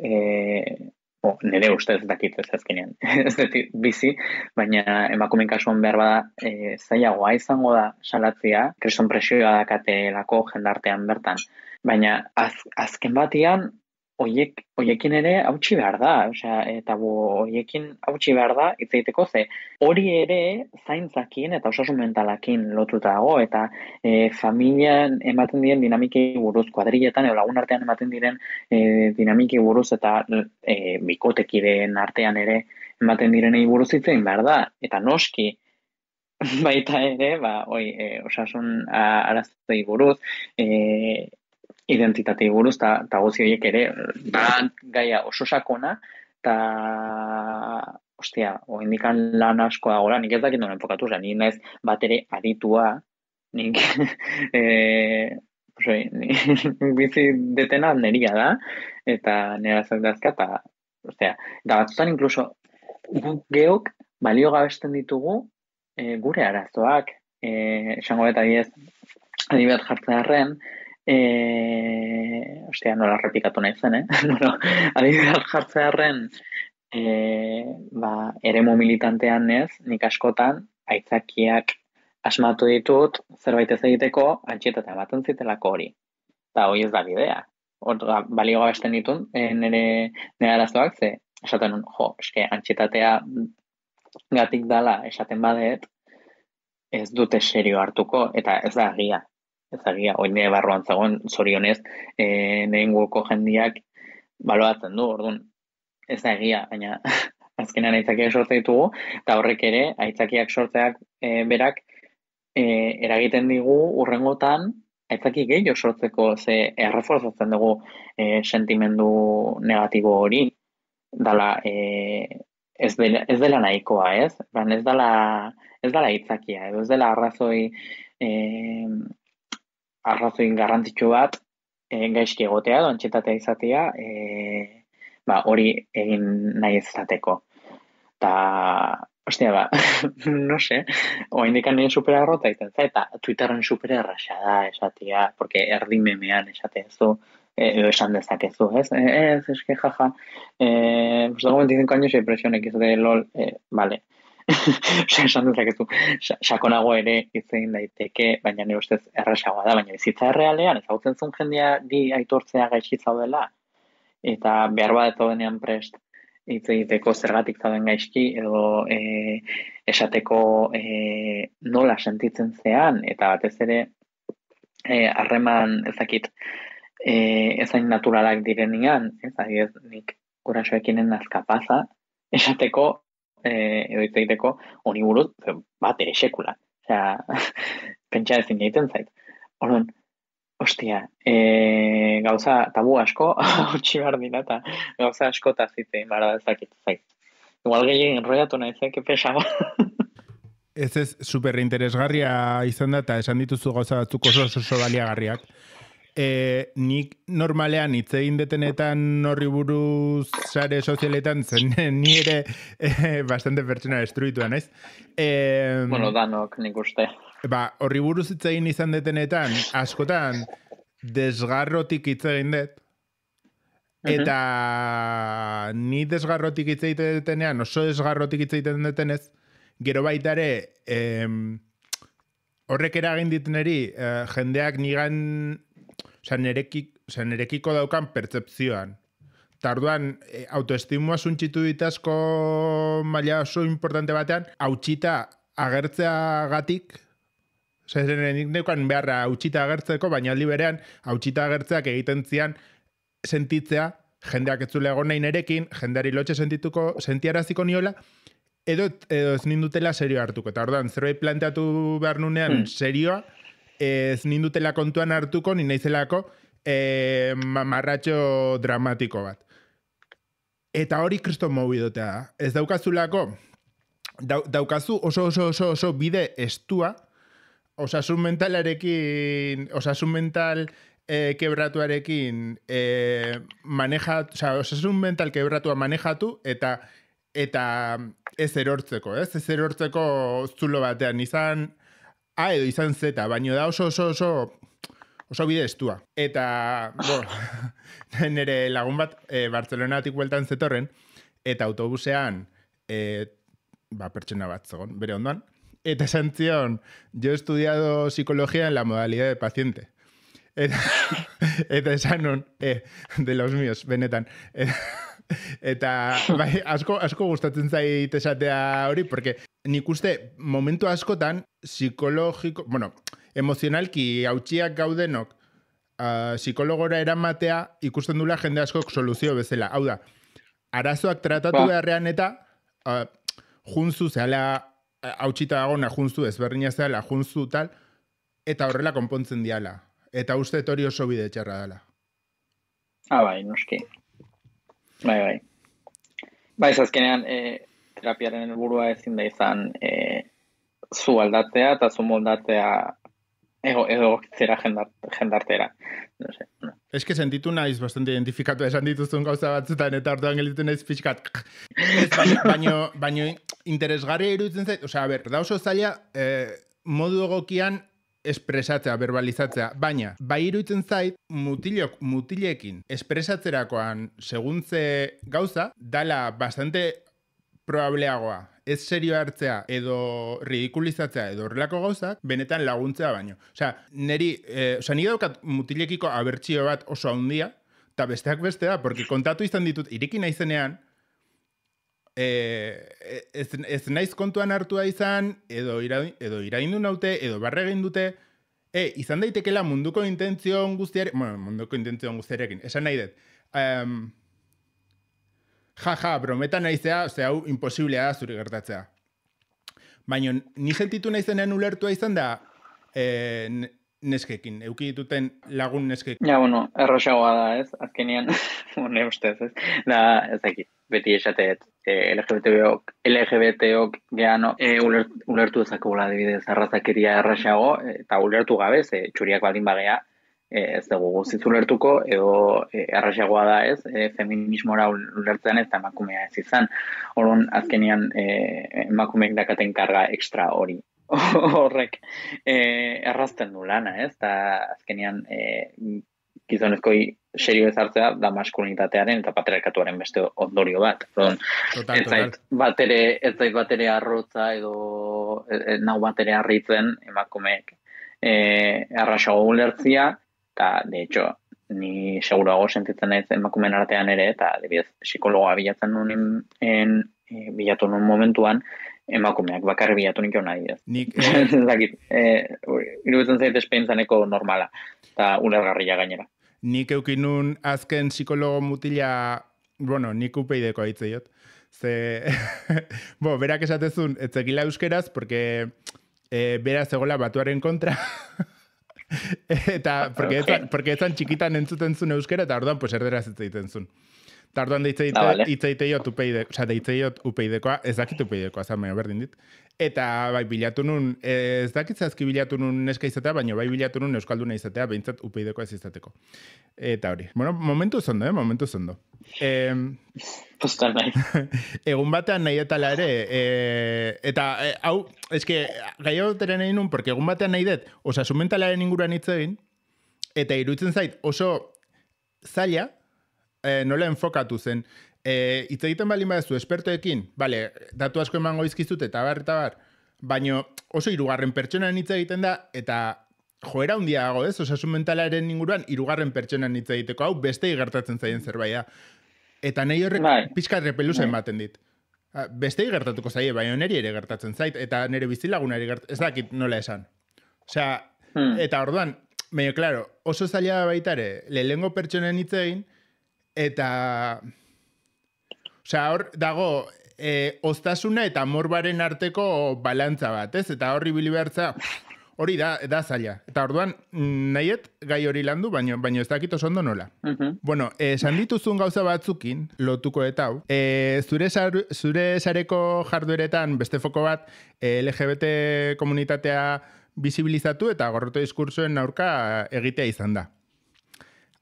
nire ustez dakit ez azkenean, ez dut bizi, baina emakumeen kasuan behar bada zailagoa izango da salatzea, kriston presioa dakatelako jendartean bertan, baina azken batian, Oiekin ere hautsi behar da, eta oiekin hautsi behar da, hitz egiteko ze, hori ere zaintzakin eta osasun mentalakin lotuta dago, eta familian ematen diren dinamiki buruz, kuadrilletan edo lagun artean ematen diren dinamiki buruz, eta bikotekideen artean ere ematen direnei buruz hitz egin behar da, eta noski, baita ere, osasun araztei buruz, identitatei buruz, eta guzi horiek ere, da gaia oso sakona, eta, ostia, oindikan lan asko dagoela, nik ez dakit noren enfokatu, nik naiz bat ere aditua, nik, bizi detena neria da, eta nera zeldazka, eta, ostia, eta batzutan inkluso, guk geok balio gabesten ditugu gure arazoak, esango eta adibidez jartzearen, ostia, nola repikatu nahi zen, bueno, adibidez jartzearen, eremu militantean ez, nik askotan, aitzakiak asmatu ditut, zerbait ez egiteko, antxietatea ematen zitelako hori. Eta hori ez da bidea. Balio gabesten ditun, nire arazoak, ze, esaten nun, antxietatea gatik dala esaten badet, ez dute serio hartuko, eta ez da egia. Ez da egia, hori nire barruan zegoen, zorionez, nire inguruko jendiak baloatzen du, orduan, ez da egia, baina azkenean aitzakiak sortze ditugu, eta horrek ere, aitzakiak sortzeak berak, eragiten digu urrengotan, aitzaki gehiago sortzeko, ze erreforzatzen dugu sentimendu negatibo hori, dala, ez dela nahikoa, ez? Ez dela aitzakia, edo ez dela arrazoi garrantzitsu bat, gaizki egotea, edo antxetatea izatea, hori egin nahi izateko. Ta, ostia, no sé, oaindikan nire superarrota iten za, eta Twitterren supererraxa da esatia, porque erdi memean esatezu, edo esan dezakezu, ez? Eske, jaja, pues dago 25 años y presión X de LOL, vale. Esan dezakezu, sakonago ere itzein daiteke, baina nire ustez erraxagoa da, baina bizitza errealean, ezagutzen zuen jendea di aitortzea gaixi zaudela, eta behar bat denean prest, hitz egiteko zergatik zauden gaizki, edo esateko nola sentitzen zean, eta batez ere harreman ezakit ezain naturalak direnean, ez nik gurasoekinen nazkapaza, esateko edo hitz egiteko honi buruz bat ere sekula. Osea, pentsa ezin egiten zait. Orduan, ostia, gauza tabu asko, hotxi behar dira, eta gauza asko eta zitzein bara ezakit zait. Igual gehien enroiatu naizek, pesago. Ez superinteresgarria izan da, eta esan dituzu gauza batzuk oso baliagarriak. Nik normalean hitz egin detenetan horri buruz sare sozialetan zen ni ere bastante pertsona destruitua naiz. Bueno, danok nik uste. Horri buruz hitz egin izan detenetan askotan desgarrotik hitz egin dut. Eta ni desgarrotik hitz egiten detenean, oso desgarrotik hitz egiten detenez, gero baita ere horrek eragin ditneri jendeak nigan nerekiko daukan pertzepzioan. Tarduan, autoestimua suntxitu ditazko maila oso importante batean, hautsita agertzea gatik, nik neukan beharra hautsita agertzeko, baina aldi berean, hautsita agertzeak egiten zian sentitzea, jendeak ez zule egon nahi nerekin, jendeari lotxe sentiaraziko niola, edo ez nindutela serio hartuko. Eta orduan, zerbait planteatu behar nunean serioa, ez nindutela kontuan hartuko, ni naizelako mamarratxo dramatiko bat. Eta hori kriston mobidotea da. Ez daukazulako, daukazu oso bide estua, osasun mental kebratuarekin osasun mental kebratua manejatu, eta ez erortzeko, ez erortzeko zulo batean, izan A edo izan Z, baino da oso bide estua. Eta, nire lagun bat Bartzelonatik bueltan zetorren, eta autobusean pertsona bat zegoen, bere ondoan, eta esan zion, yo he estudiado psicología en la modalidad de paciente. Eta esan nun, de los míos, benetan. Eta asko gustatzen zait esatea hori, porque nik uste momentu askotan psikologiko, emozionalki hautsiak gaudenok psikologora eramatea ikusten dula jende askok soluzio bezala. Hau da, arazoak tratatu beharrean eta junzu zehala hautsita dagona junzu ezberdina zehala junzu tal, eta horrela konpontzen diala. Eta uste hori oso bide txarra dela. Bai, noski. Bai. Bai, azkenean, terapiaren helburua ezin da izan zu aldatzea eta zu moldatzea egokitzera jendartera. No sé. No. Ez que sentitu naiz bastante identifikatu esan dituzun gauza batzutan eta orduan gelditu naiz pixkat. Baino interesgarria iruditzen zait, osea, a ber, da oso zaila modu egokian espresatzea, verbalizatzea, baina bai iruditzen zait mutilekin espresatzerakoan seguntze gauza dala bastante probableagoa ez serio hartzea edo ridikulizatzea edo horrelako gauzak benetan laguntzea baino. Osea, niri daukat mutilekiko abertzio bat oso handia eta besteak bestea, porque kontatu izan ditut iriki naizenean ez naiz kontuan hartua izan, edo iraindu naute, edo barre egin dute, izan daitekela munduko intentzion guztiarekin, esan nahi dut. Brometan naizea, hau imposiblea da zuri gertatzea. Baina, ni sentitu naizenean ulertua izan da neskekin, euki dituten lagun neskekin. Ja, errosagoa da, ez? Azkenean, ne ustez, ez? Da, ez dakit, beti esateet, LGBTok geano ulertu ezakula adibidez arrazakeria errasago, eta ulertu gabe, txuriak baldin bagea, ez dugu guztiz ulertuko, edo errasagoa da ez, feminismora ulertzen ez da emakumea ez izan. Orduan, azkenean emakumeek dakaten karga ekstra hori. Horrek errazten du lana, ez? Eta azkenean gizonezkoi serio ezartzea da maskulinitatearen eta patriarkatuaren beste ondorio bat. Ez zait batere arrotza edo nau batere harritzen emakumeek errasago ulertzia, eta de hecho ni seguruago sentitzen naiz emakumeen artean ere, eta adibidez psikologoa bilatu nun momentuan, emakumeak bakarri bilatu nik nahi ez. Iruditzen zait espeintzaneko normala, eta ulergarria gainera. Nik eukinun azken psikologo mutila, nik upeideko aitzeiot. Berak esatezun, etzekila euskeraz, porque beraz egola batuaren kontra, eta porque ezan txikitan entzuten zuen euskera, eta orduan erderaz etzeiten zuen. Eta orduan deitzeiot upeidekoa, ez dakit upeidekoa, zame, berdin dit. Eta bai bilatu nun, ez dakit zazki bilatu nun neska izatea, baina bai bilatu nun euskalduna izatea, behintzat upeidekoa ez izateko. Eta hori, momentu zondo, momentu zondo. Postan nahi. Egun batean nahi etala ere, eta hau, eske, gai hau teren egin nun, porque egun batean nahi dut, osasun mentalaren inguruan hitz egin, eta iruditzen zait oso zaila, nola enfokatu zen, hitz egiten baldin badezu espertoekin, datu asko emango izkizut eta bar, baina oso hirugarren pertsonan hitz egiten da, eta joera handia dago ez, osasun mentalaren inguruan hirugarren pertsonan hitz egiteko, hau bestei gertatzen zaien zerbait da. Eta nahi horrek pixka repeluzen baten dit. Bestei gertatuko zaie, baina neri ere gertatzen zait, eta nire bizilagunari ez dakit nola esan. Osea, eta orduan, baina, klaro, oso zaila baitare, lehengo pertsonen hitz egin, eta osea, hor dago oztasuna eta morbaren arteko balantza bat, ez? Eta horri bili behartza, hori da zaila. Eta orduan, nahiet gai hori landu, baina ez dakit oso ondo nola. Bueno, esan dituzun gauza batzukin, lotuko eta hau, zure sareko jardueretan beste foko bat LGBT komunitatea bizibilizatu eta gorroto diskursoen aurka egitea izan da.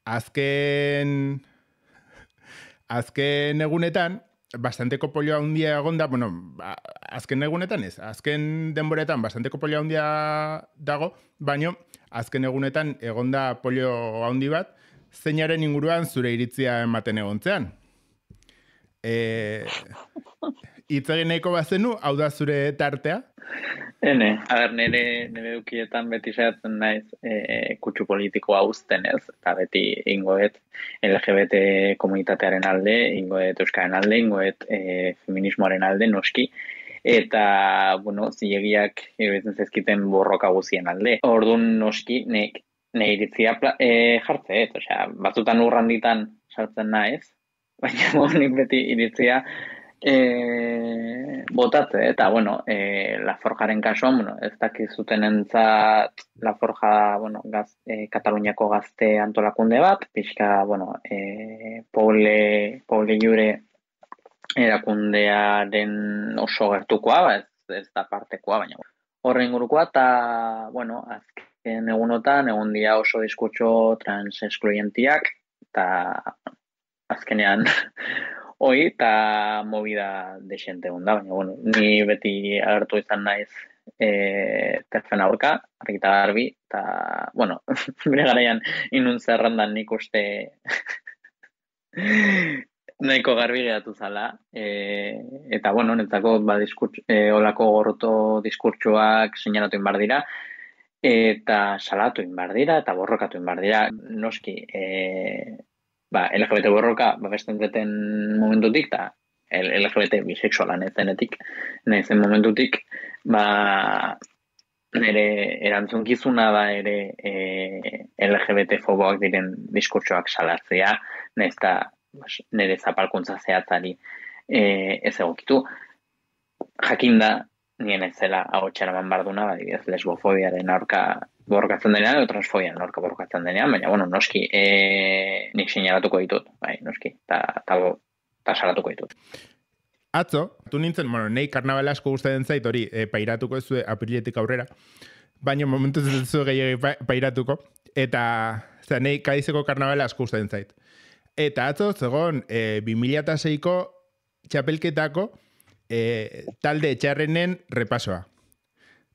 Azken egunetan, bastanteko polioa handia egonda, azken egunetan ez, azken denboretan bastanteko polioa handia dago, baina azken egunetan egonda polio handi bat, zeinaren inguruan zure iritzia ematen egontzean. Hitz egin nahiko bazenu, hau da zure tartea? Nire dukietan beti saiatzen naiz kutsu politikoa uzten ez, eta beti ingoet LGBT komunitatearen alde, ingoet euskaren alde, ingoet feminismoaren alde, noski, eta, zilegiak iruditzen zaizkiten borroka guzien alde. Orduan noski, nire iritzia jartzeet, batzutan urranditan sartzen naiz, baina nik beti iritzia Botatze, eta, bueno, La Forjaren kasuan, bueno, ez dakizuten entzat La Forja, bueno, Kataluniako gazte antolakunde bat, pixka, bueno, Poble Jure erakundearen oso gertukoa, ez da partekoa, baina horren ingurukoa, eta, bueno, azken egunotan, egon dia oso diskurtso trans-eskluientiak, eta azkenean hoi, eta movida desente da, baina, bueno, ni beti agertu izan naiz terfen aurka, argita garbi, eta, bueno, bere garaian inun zerrandan nik uste nahiko garbi geratu zala, eta, bueno, netzako, olako gorroto diskurtsoak seinalatu inbar dira, eta salatu inbar dira, eta borrokatu inbar dira, noski, LGBT borroka, besten zeten momentutik, eta LGBT bisexuala nezenetik, nezen momentutik, nire erantzunkizuna da ere LGBT foboak diren diskurtsoak salatzea, nezta nire zapalkuntza zehatzari ez egokitu. Jakinda, nien ez zela hau txaraman barduna, badibidez lesbofobiaren aurka borrokatzen denean, edo transfobiaren aurka borrokatzen denean, baina, bueno, noski, nik sinalatuko ditut, bai, noski, eta salatuko ditut. Atzo, tu nintzen, bueno, nahi karnabala asko gustatzen zait hori, pairatuko ez apriletik aurrera, baina momentuz ez zu gehiagi pairatuko, eta nahi Kadizeko karnabala asko gustatzen zait. Eta atzo, zegoen, 2006ko txapelketako talde txarrenen repasoa.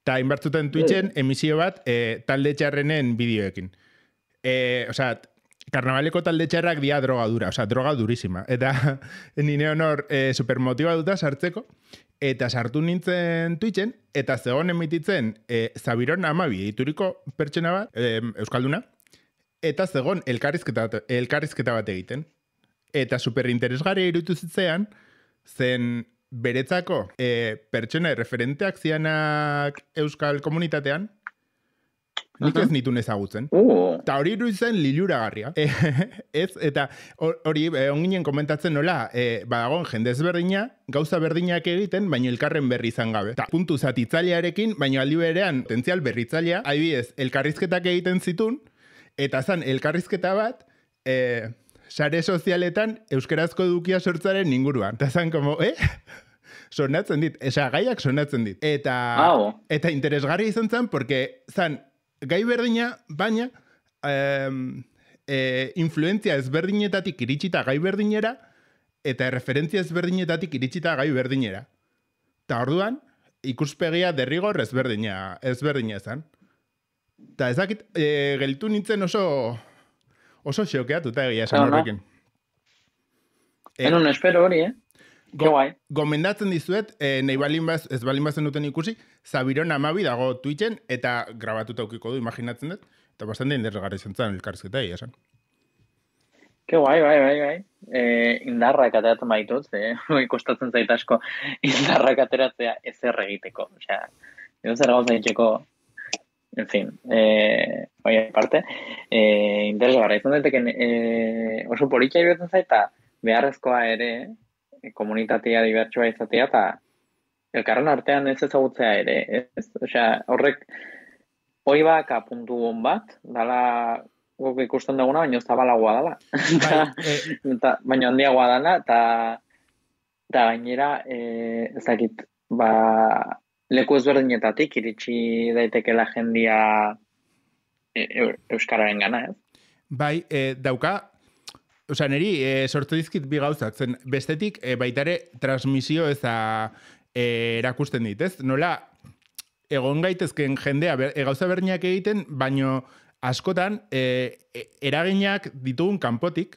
Eta inbartzuten Twitchen emisio bat talde txarrenen bideoekin. Osea, karnabaleko talde txarrak dia drogadura, osea, droga durísima. Eta nire honor supermotibatuta sartzeko, eta sartu nintzen Twitchen, eta zegoen emititzen Zabiron Amabi ituriko pertsona bat, euskalduna, eta zegoen elkarrizketa bat egiten. Eta superinteresgarria irutu zitzean, zen beretzako pertsona referenteak zianak euskal komunitatean, nik ez nitun ezagutzen. Eta hori iruditzen liluragarria. Eta hori onginen komentatzen nola, badagoen jende ezberdina, gauza berdinak egiten, baina elkarren berri izan gabe. Eta puntu zatitzailearekin, baina aldi berean potentzial berritzailea, adibidez, elkarrizketak egiten zitun, eta zan elkarrizketa bat, sare sozialetan euskerazko edukia sortzaren inguruan. Eta zan, como, sonatzen dit, gaiak sonatzen dit. Eta interesgarria izan zen, porque zan, gai berdina, baina influentzia ezberdinetatik iritsita gai berdinera, eta referentzia ezberdinetatik iritsita gai berdinera. Eta orduan, ikuspegia derrigor ezberdina ezan. Eta ezakit, geltu nintzen oso xokeatuta egia esan horrekin. Enun espero hori, Gomendatzen dizuet, nahi ez balin bazen duten ikusi, Zabiron Amabi dago Twitchen, eta grabatuta aukiko du, imaginatzen dut, eta bastante interesgarri izan zen elkarrizketa egia esan. Ke bai. Indarrak ateratzen baitut, ikostatzen zait asko indarrak ateratzea ezer egiteko. Osea, edo zer gauza egiteko, en fin, bai aparte, interesgarra izan daiteken oso politxa ibertzen zait, eta beharrezkoa ere, komunitatea dibertsua izatea, eta elkarren artean ez ezagutzea ere, ez? Osea, horrek, hoi baka puntu hon bat, dala guk ikusten duguna, baina zabalagoa dala. Baina handiagoa dala, eta gainera, ezakit, leku ezberdinetatik iritsi daitekela jendia euskararen gana, ez? Bai, dauka, osea, niri sortu dizkit bi gauzak, zen bestetik baitare transmisio eza erakusten dit, ez? Nola, egon gaitezken jendea gauza berdinak egiten, baino askotan eraginak ditugun kanpotik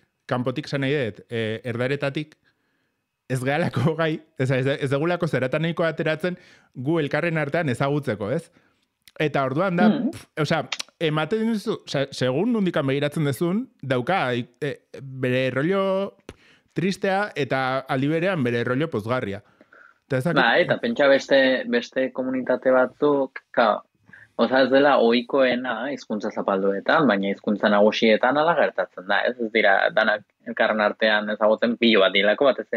zan nahi dut, erdaretatik, ez gehalako gai, ez degulako zeratan nahiko ateratzen gu elkarren artean ezagutzeko, ez? Eta orduan da, osea, ematen duzu, segun nondikan begiratzen duzun, dauka bere rollo tristea eta aldi berean bere rollo pozgarria. Eta pentsa beste komunitate batzuk, Oza, ez dela ohikoena hizkuntza zapalduetan, baina hizkuntza nagusietan ala gertatzen da, ez? Ez dira, danak elkarren artean ezagutzen pilo bat dilako bat, ez?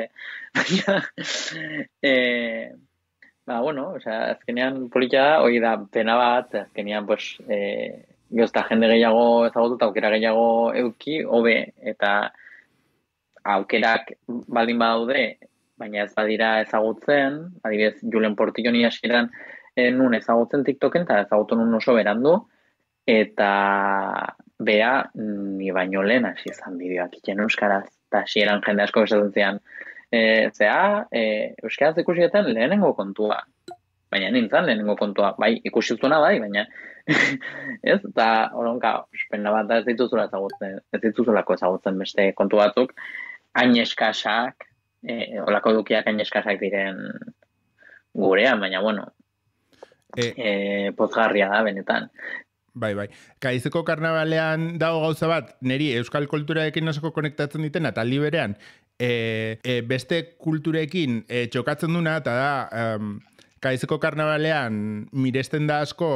Baina, bueno, osea, azkenean politia da, hori da pena bat, azkenean, pues, gozta jende gehiago ezagutu eta aukera gehiago euki, hobe, eta aukerak baldin badaude, baina ez badira ezagutzen, adibidez, Julen Portillo ni hasieran nun ezagutzen TikToken, eta ezagutu nun oso berandu, eta bea ni baino lehen hasi izan bideoak iten euskaraz, eta hasieran jende asko esaten zian, euskaraz ikusietan lehenengo kontua, baina nintzen lehenengo kontua, bai, ikusizuna bai, baina ez, eta horonka, pena bat da ez dituzulako ezagutzen beste kontu batzuk, hain eskasak, olako dukiak hain eskasak diren gurean, baina bueno, pozgarria da benetan. Bai. Gaizeko karnabalean dago gauza bat, niri euskal kulturarekin osoko konektatzen ditena, eta aldi berean, beste kulturekin txokatzen duna, eta da, Gaizeko karnabalean miresten da asko,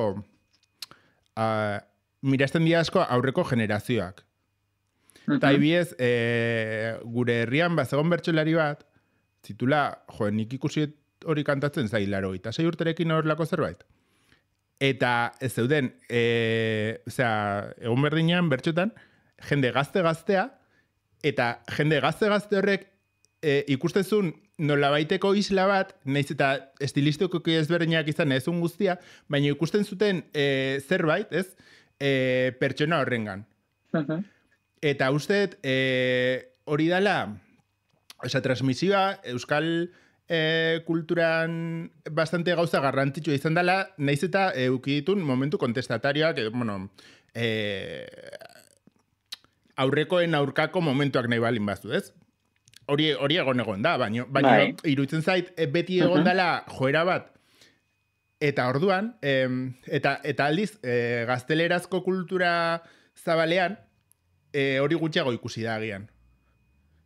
miresten dira asko aurreko generazioak. Eta ibiez, gure herrian bazegon bertsolari bat, zitula, nik ikusi hori kantatzen zailaro, eta 6 urterekin horrelako zerbait. Eta ez zeuden, egun berdinean, bertxotan, jende gazte-gaztea, eta jende gazte-gazte horrek ikustezun nolabaiteko isla bat, naiz eta estilistiko ezberdinak izan ezun guztia, baina ikusten zuten zerbait, ez, pertsona horrengan. Eta usteet, hori dela, transmisioa, euskal kulturan bastante gauza garrantzitsua izan dela, naiz eta eukiditun momentu kontestatarioak, aurrekoen aurkako momentuak nahi balin bazu, ez? Hori egon da, baina iruditzen zait beti egon dela joera bat, eta orduan, eta aldiz, gaztelerazko kultura zabalean, hori gutxiago ikusi da agian.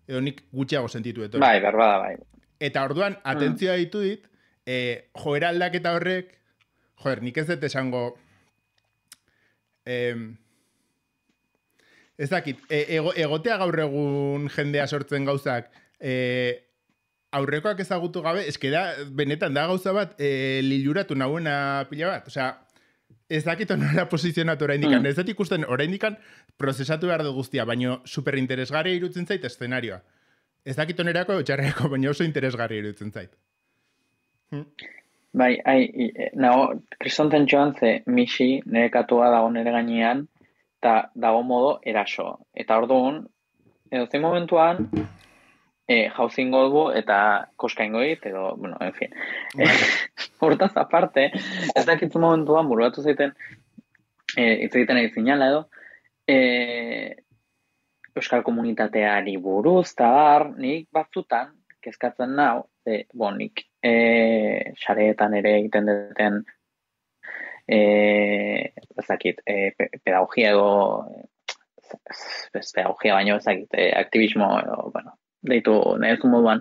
Edo nik gutxiago sentitu eto. Bai, berbada, bai. Eta orduan, atentzioa ditu dit, joera aldaketa horrek, nik ez dut esango, ez dakit, egotea gaur egun jendea sortzen gauzak, aurrekoak ezagutu gabe, da, benetan da gauza bat, liluratu nahuena pila bat. Osea, ez dakit nola posizionatu oraindikan. Ez dut ikusten oraindikan prozesatu behar du guztia, baina superinteresgarria irutzen zait eszenarioa. Ez dakit onerako txarrerako, baina oso interesgarria irutzen zait. Bai, kristonten joan ze misi nire katua dago nire gainean, eta dago modo eraso. Eta orduan, edo zein momentuan, jauzin godu eta koskaingo dit, edo, bueno, en fin. Hortaz aparte, ez dakitzu momentuan, buruatu zaiten, hitz egiten egizinala edo, euskal komunitateari buruz, eta nik batzutan, kezkatzen nau, nik sareetan ere egiten duten ezakit, pedagogia edo pedagogia baino ezakit, aktivismo edo, bueno, deitu nahizun moduan,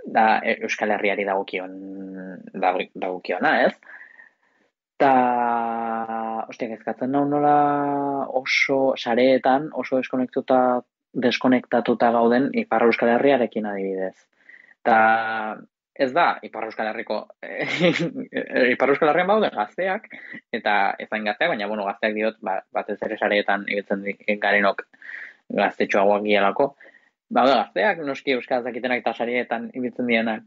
da Euskal Herriari dagokiona, ez? Ta, kezkatzen nau nola oso sareetan, oso deskonektatuta gauden Ipar Euskal Herriarekin adibidez. Ta, ez da, Ipar Euskal Herrian bauden gazteak, eta ezain gazteak, baina, bueno, gazteak diot, batez ere sareetan ibiltzen garenok gaztetxoagoak gialako. Baude gazteak, noski euskaraz dakitenak eta sarietan ibiltzen dienak.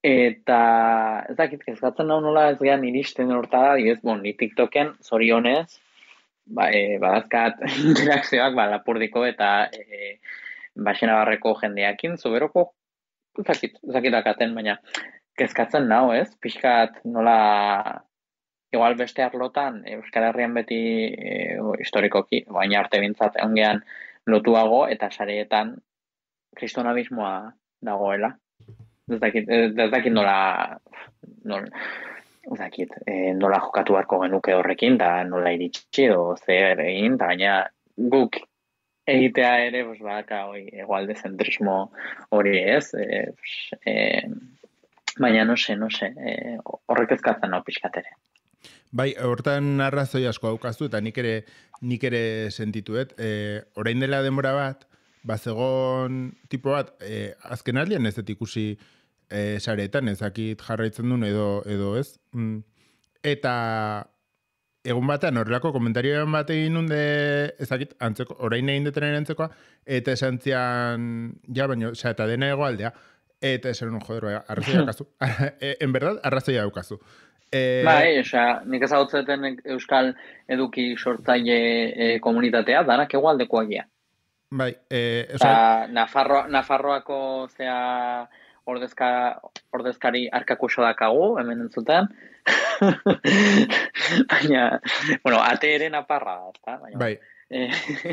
Eta ez dakit, kezkatzen nau nola ez gehan iristen hortara, ni TikToken zorionez, badazkat interakzioak lapurdiko eta Baxenabarreko jendeakin, zuberoko zakitakaten, baina kezkatzen nau, ez? Pixkat nola, igual beste arlotan, Euskal Herrian beti historikoki, baina arte bintzat ongean lotuago eta sareetan kristonabismoa dagoela. Ez dakit nola jokatu beharko genuke horrekin, da nola iritsi edo zer egin, eta baina guk egitea ere, egualde zentrismo hori ez, baina no se, horrek ezkatzen hau pixkat ere. Bai, hortan arrazoi asko daukazu, eta nik ere sentituet. Orain dela denbora bat, bazegon tipo bat, azken aldean ez dut ikusi sareetan, ezakit jarraitzen duen edo ez. Eta egun batean horrelako komentarioan bat egin nunde, ezakit, antzeko, orain egin detenen antzekoa, eta esan zian, ja, baina, eta dena egoaldea, eta esan nun, joder, arrazoia daukazu. En verdad, arrazoia daukazu. Bai, nik ezagutzeten Euskal Eduki sortzaile komunitatea, danak egualdekoak ja. Bai, Nafarroako zea ordezkari arkakuso dakagu, hemen entzuten. Baina, bueno, ate ere naparra, ezta? Bai.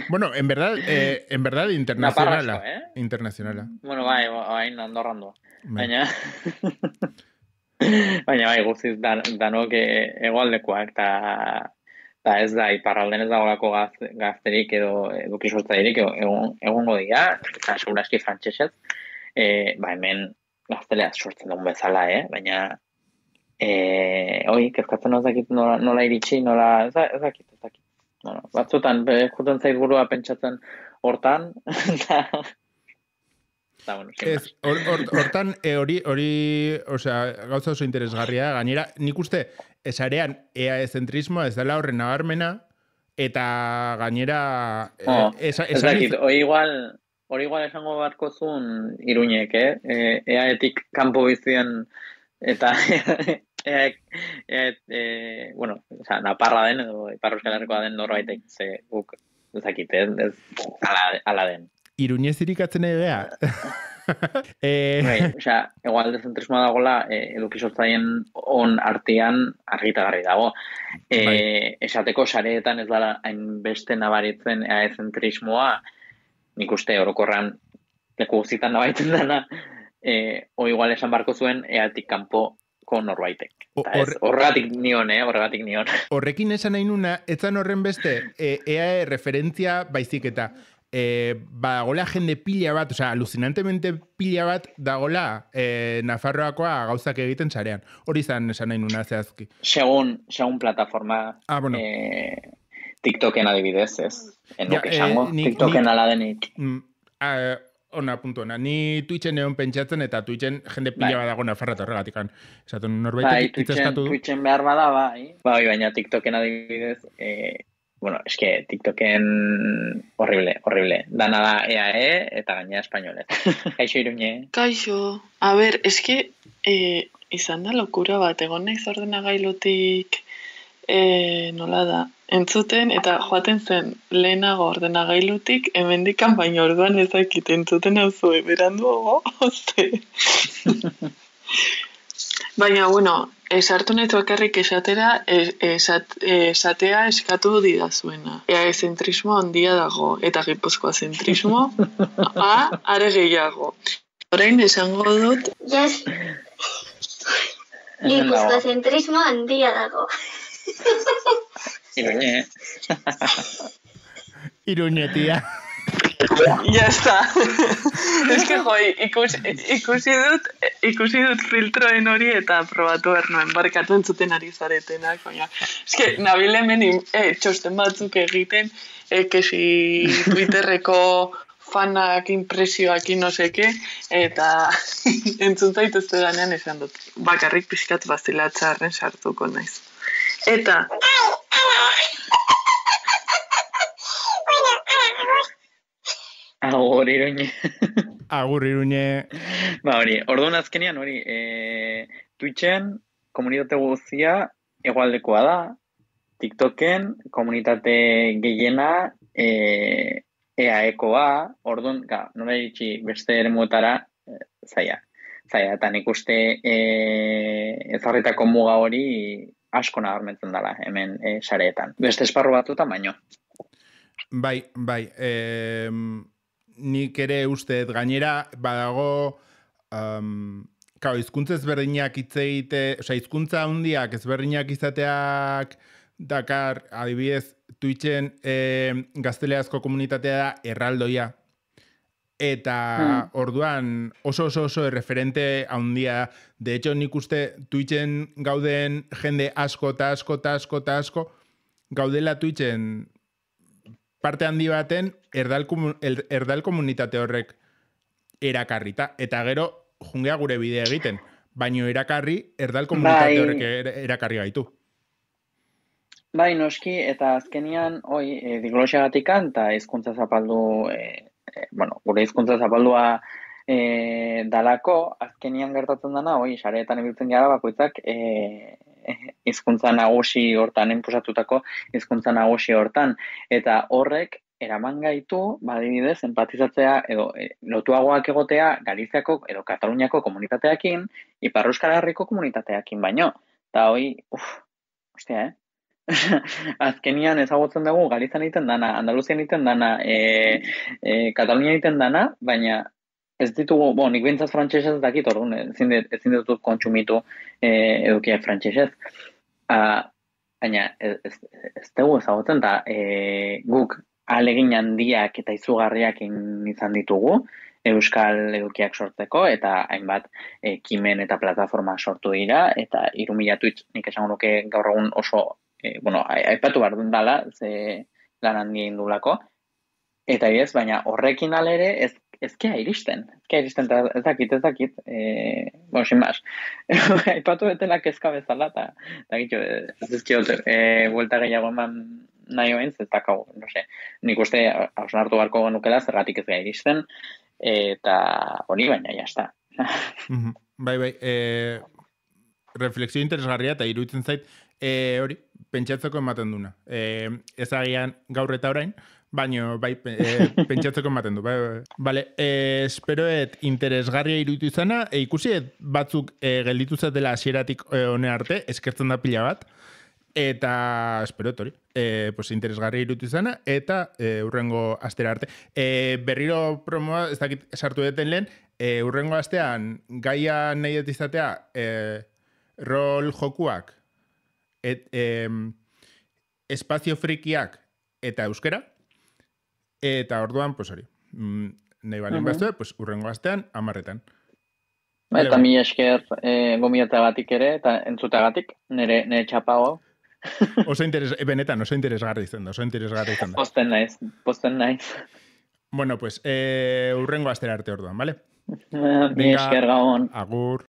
Bueno, en verdad internacionala. Internacionala. Bueno, bai, Andorrando. Baina... Baina bai, guztiz danok egoaldekoak, eta ez da, iparralden ez dagoelako gazterik edo eduki sortzailerik egongo dira, eta seguraski frantsesez, hemen gaztelea sortzen dugun bezala, baina kezkatzen ezakit nola iritsi, nola ezakit. Bueno, batzutan, juten zait burua pentsatzen hortan, Hortan, hori, gauza oso interesgarria, gainera, nik uste, esarean EAE-zentrismoa ez dela horren nabarmena, eta gainera... Hori igual esango barko zuen Iruñek, EAE-tik kanpo bizien, eta Naparra den, edo Ipar Euskal Herrikoa den norbaitek, ze guk, ezakit, ez ala den. Iruñez irikatzen egea. Egual dezentrismoa dagoela, eduki sortzaien on artean argitagarri dago. Esateko sareetan ez dela hainbeste nabaritzen zentrismoa, nik uste orokorran leku guztietan nabaritzen dena, igual esan barko zuen eatik kanpoko norbaitek. Horregatik nion. Horrekin esan nahi nuna, etzan horren beste, EAE referentzia baizik eta dagoela jende pila bat, alucinantemente pila bat dagoela Nafarroakoa gauzak egiten sarean. Hori esan nahi nuna zehazki. Segun plataforma TikToken adibidez, ez? Enuk esango, TikToken ala denik. Ona, puntu ona. Ni Twitchen egon pentsatzen eta Twitchen jende pila bat dago Nafarroa horregatik. Esaten norbaitek itzeskatu du. Twitchen behar bada, bai. Baina TikToken adibidez... Bueno, eske TikToken horrible. Dana da EAE eta gaina espainolez. Kaixo Iruñe. Kaixo. A ber, eske izan da lokura bat, egon naiz ordenagailutik nola da, entzuten eta joaten zen lehenago ordenagailutik hemendikan baina orduan ezakit entzuten hauzu beranduago, oste. Baina, bueno, esartu nahi bakarrik esatera, esatea eskatu didazuena. EAE-zentrismo handia dago, eta Gipuzkoa zentrismo, are gehiago. Orain esango dut... Yes. Gipuzkoa zentrismo handia dago. Iruñe. Iruñe, tia. Ya está. Es que, ikusi dut filtroen hori eta probatu ernuen, barkatu entzuten ari zaretenak, baina. Es que, nabil hemen txosten batzuk egiten, kesi Twitterreko fanak, impresioak, no seke, eta entzun zaituzte danean esan dut. Bakarrik pixkat bazilatxarren sartuko naiz. Eta... Agur Iruñe. Agur Iruñe. Orduan azkenean hori, Twitchen komunitate guztia egualdekoa da, TikToken komunitate gehiena EAEkoa, orduan, nola iritsi beste eremuetara, zaila, eta nik uste ezarritako muga hori asko nabarmentzen dela hemen sareetan. Beste esparru batutan baino. Bai, nik ere usteet gainera badago hizkuntza ezberdinak hitzeite, hizkuntza handiak ezberdinak izateak dakar, adibidez, Twitchen gazteleazko komunitatea da erraldoia. eta orduan oso referente handia, de hecho nik uste Twitchen gauden jende asko gaudela Twitchen parte handi baten erdal komunitate horrek erakarrita, eta gero jungea gure bidea egiten, baino erakarri erdal komunitate horrek erakarri gaitu. Bai, noski, eta azkenian, diglosiagatikan, eta hizkuntza zapaldu, gure hizkuntza zapaldua dalako, azkenian gertatzen dana, sareetan ibiltzen gara bakoitzak hizkuntza nagusi hortan, enpusatutako hizkuntza nagusi hortan, eta horrek eraman gaitu, badibidez, empatizatzea edo lotuagoak egotea Galiziako edo Kataluniako komunitateakin, Ipar Euskal Herriko komunitateakin baino. Eta hostia, azkenian ezagutzen dugu Galizian egiten dana, Andaluzian egiten dana, Katalunia egiten dana, baina ez ditugu, nik bintzat frantsesez dakit, orduan, ezin ditut kontsumitu edukiak frantsesez. Baina ez dugu ezagutzen, eta guk ahalegin handiak eta izugarriak izan ditugu euskal edukiak sortzeko, eta hainbat ekimen eta plataforma sortu dira, eta 3.000 Twitch nik esango nuke gaur egun oso aipatu behar dut dala, ze lan handi indulako, eta baina horrekin alere ezkea iristen, eta ez dakit, sin más, aipatu betela kezka bezala, eta gitu, ez dizkiot, buelta gehiago eman nahi oen, ez dakau, nik uste hausnartu beharko genukela, zergatik ez gai iristen, eta hori baina, jazta. Bai, refleksio interesgarria, eta iruditzen zait, hori, pentsatzeko ematen duna. Ez agian gaur eta orain, baina pentsatzeko ematen du. Bale, esperoet interesgarria iruditu izana, ikusi batzuk gelditu zatela hasieratik hone arte, eskertzen da pila bat, eta esperoet hori, interesgarria iruditu izana, eta urrengo astera arte. Berriro promoa, ez dakit sartu deten lehen, urrengo astean gaia nahi dut izatea rol jokuak, espazio frikiak eta euskera, eta orduan, hori, nahi balen bazte, urrengo astean, 10:00. Eta mi esker gomiatagatik ere, eta entzutagatik, nire txapago. Benetan, oso interesgarri izan da, Posten naiz. Bueno, urrengo astera arte orduan, ¿vale? Mi esker gabon. Agur.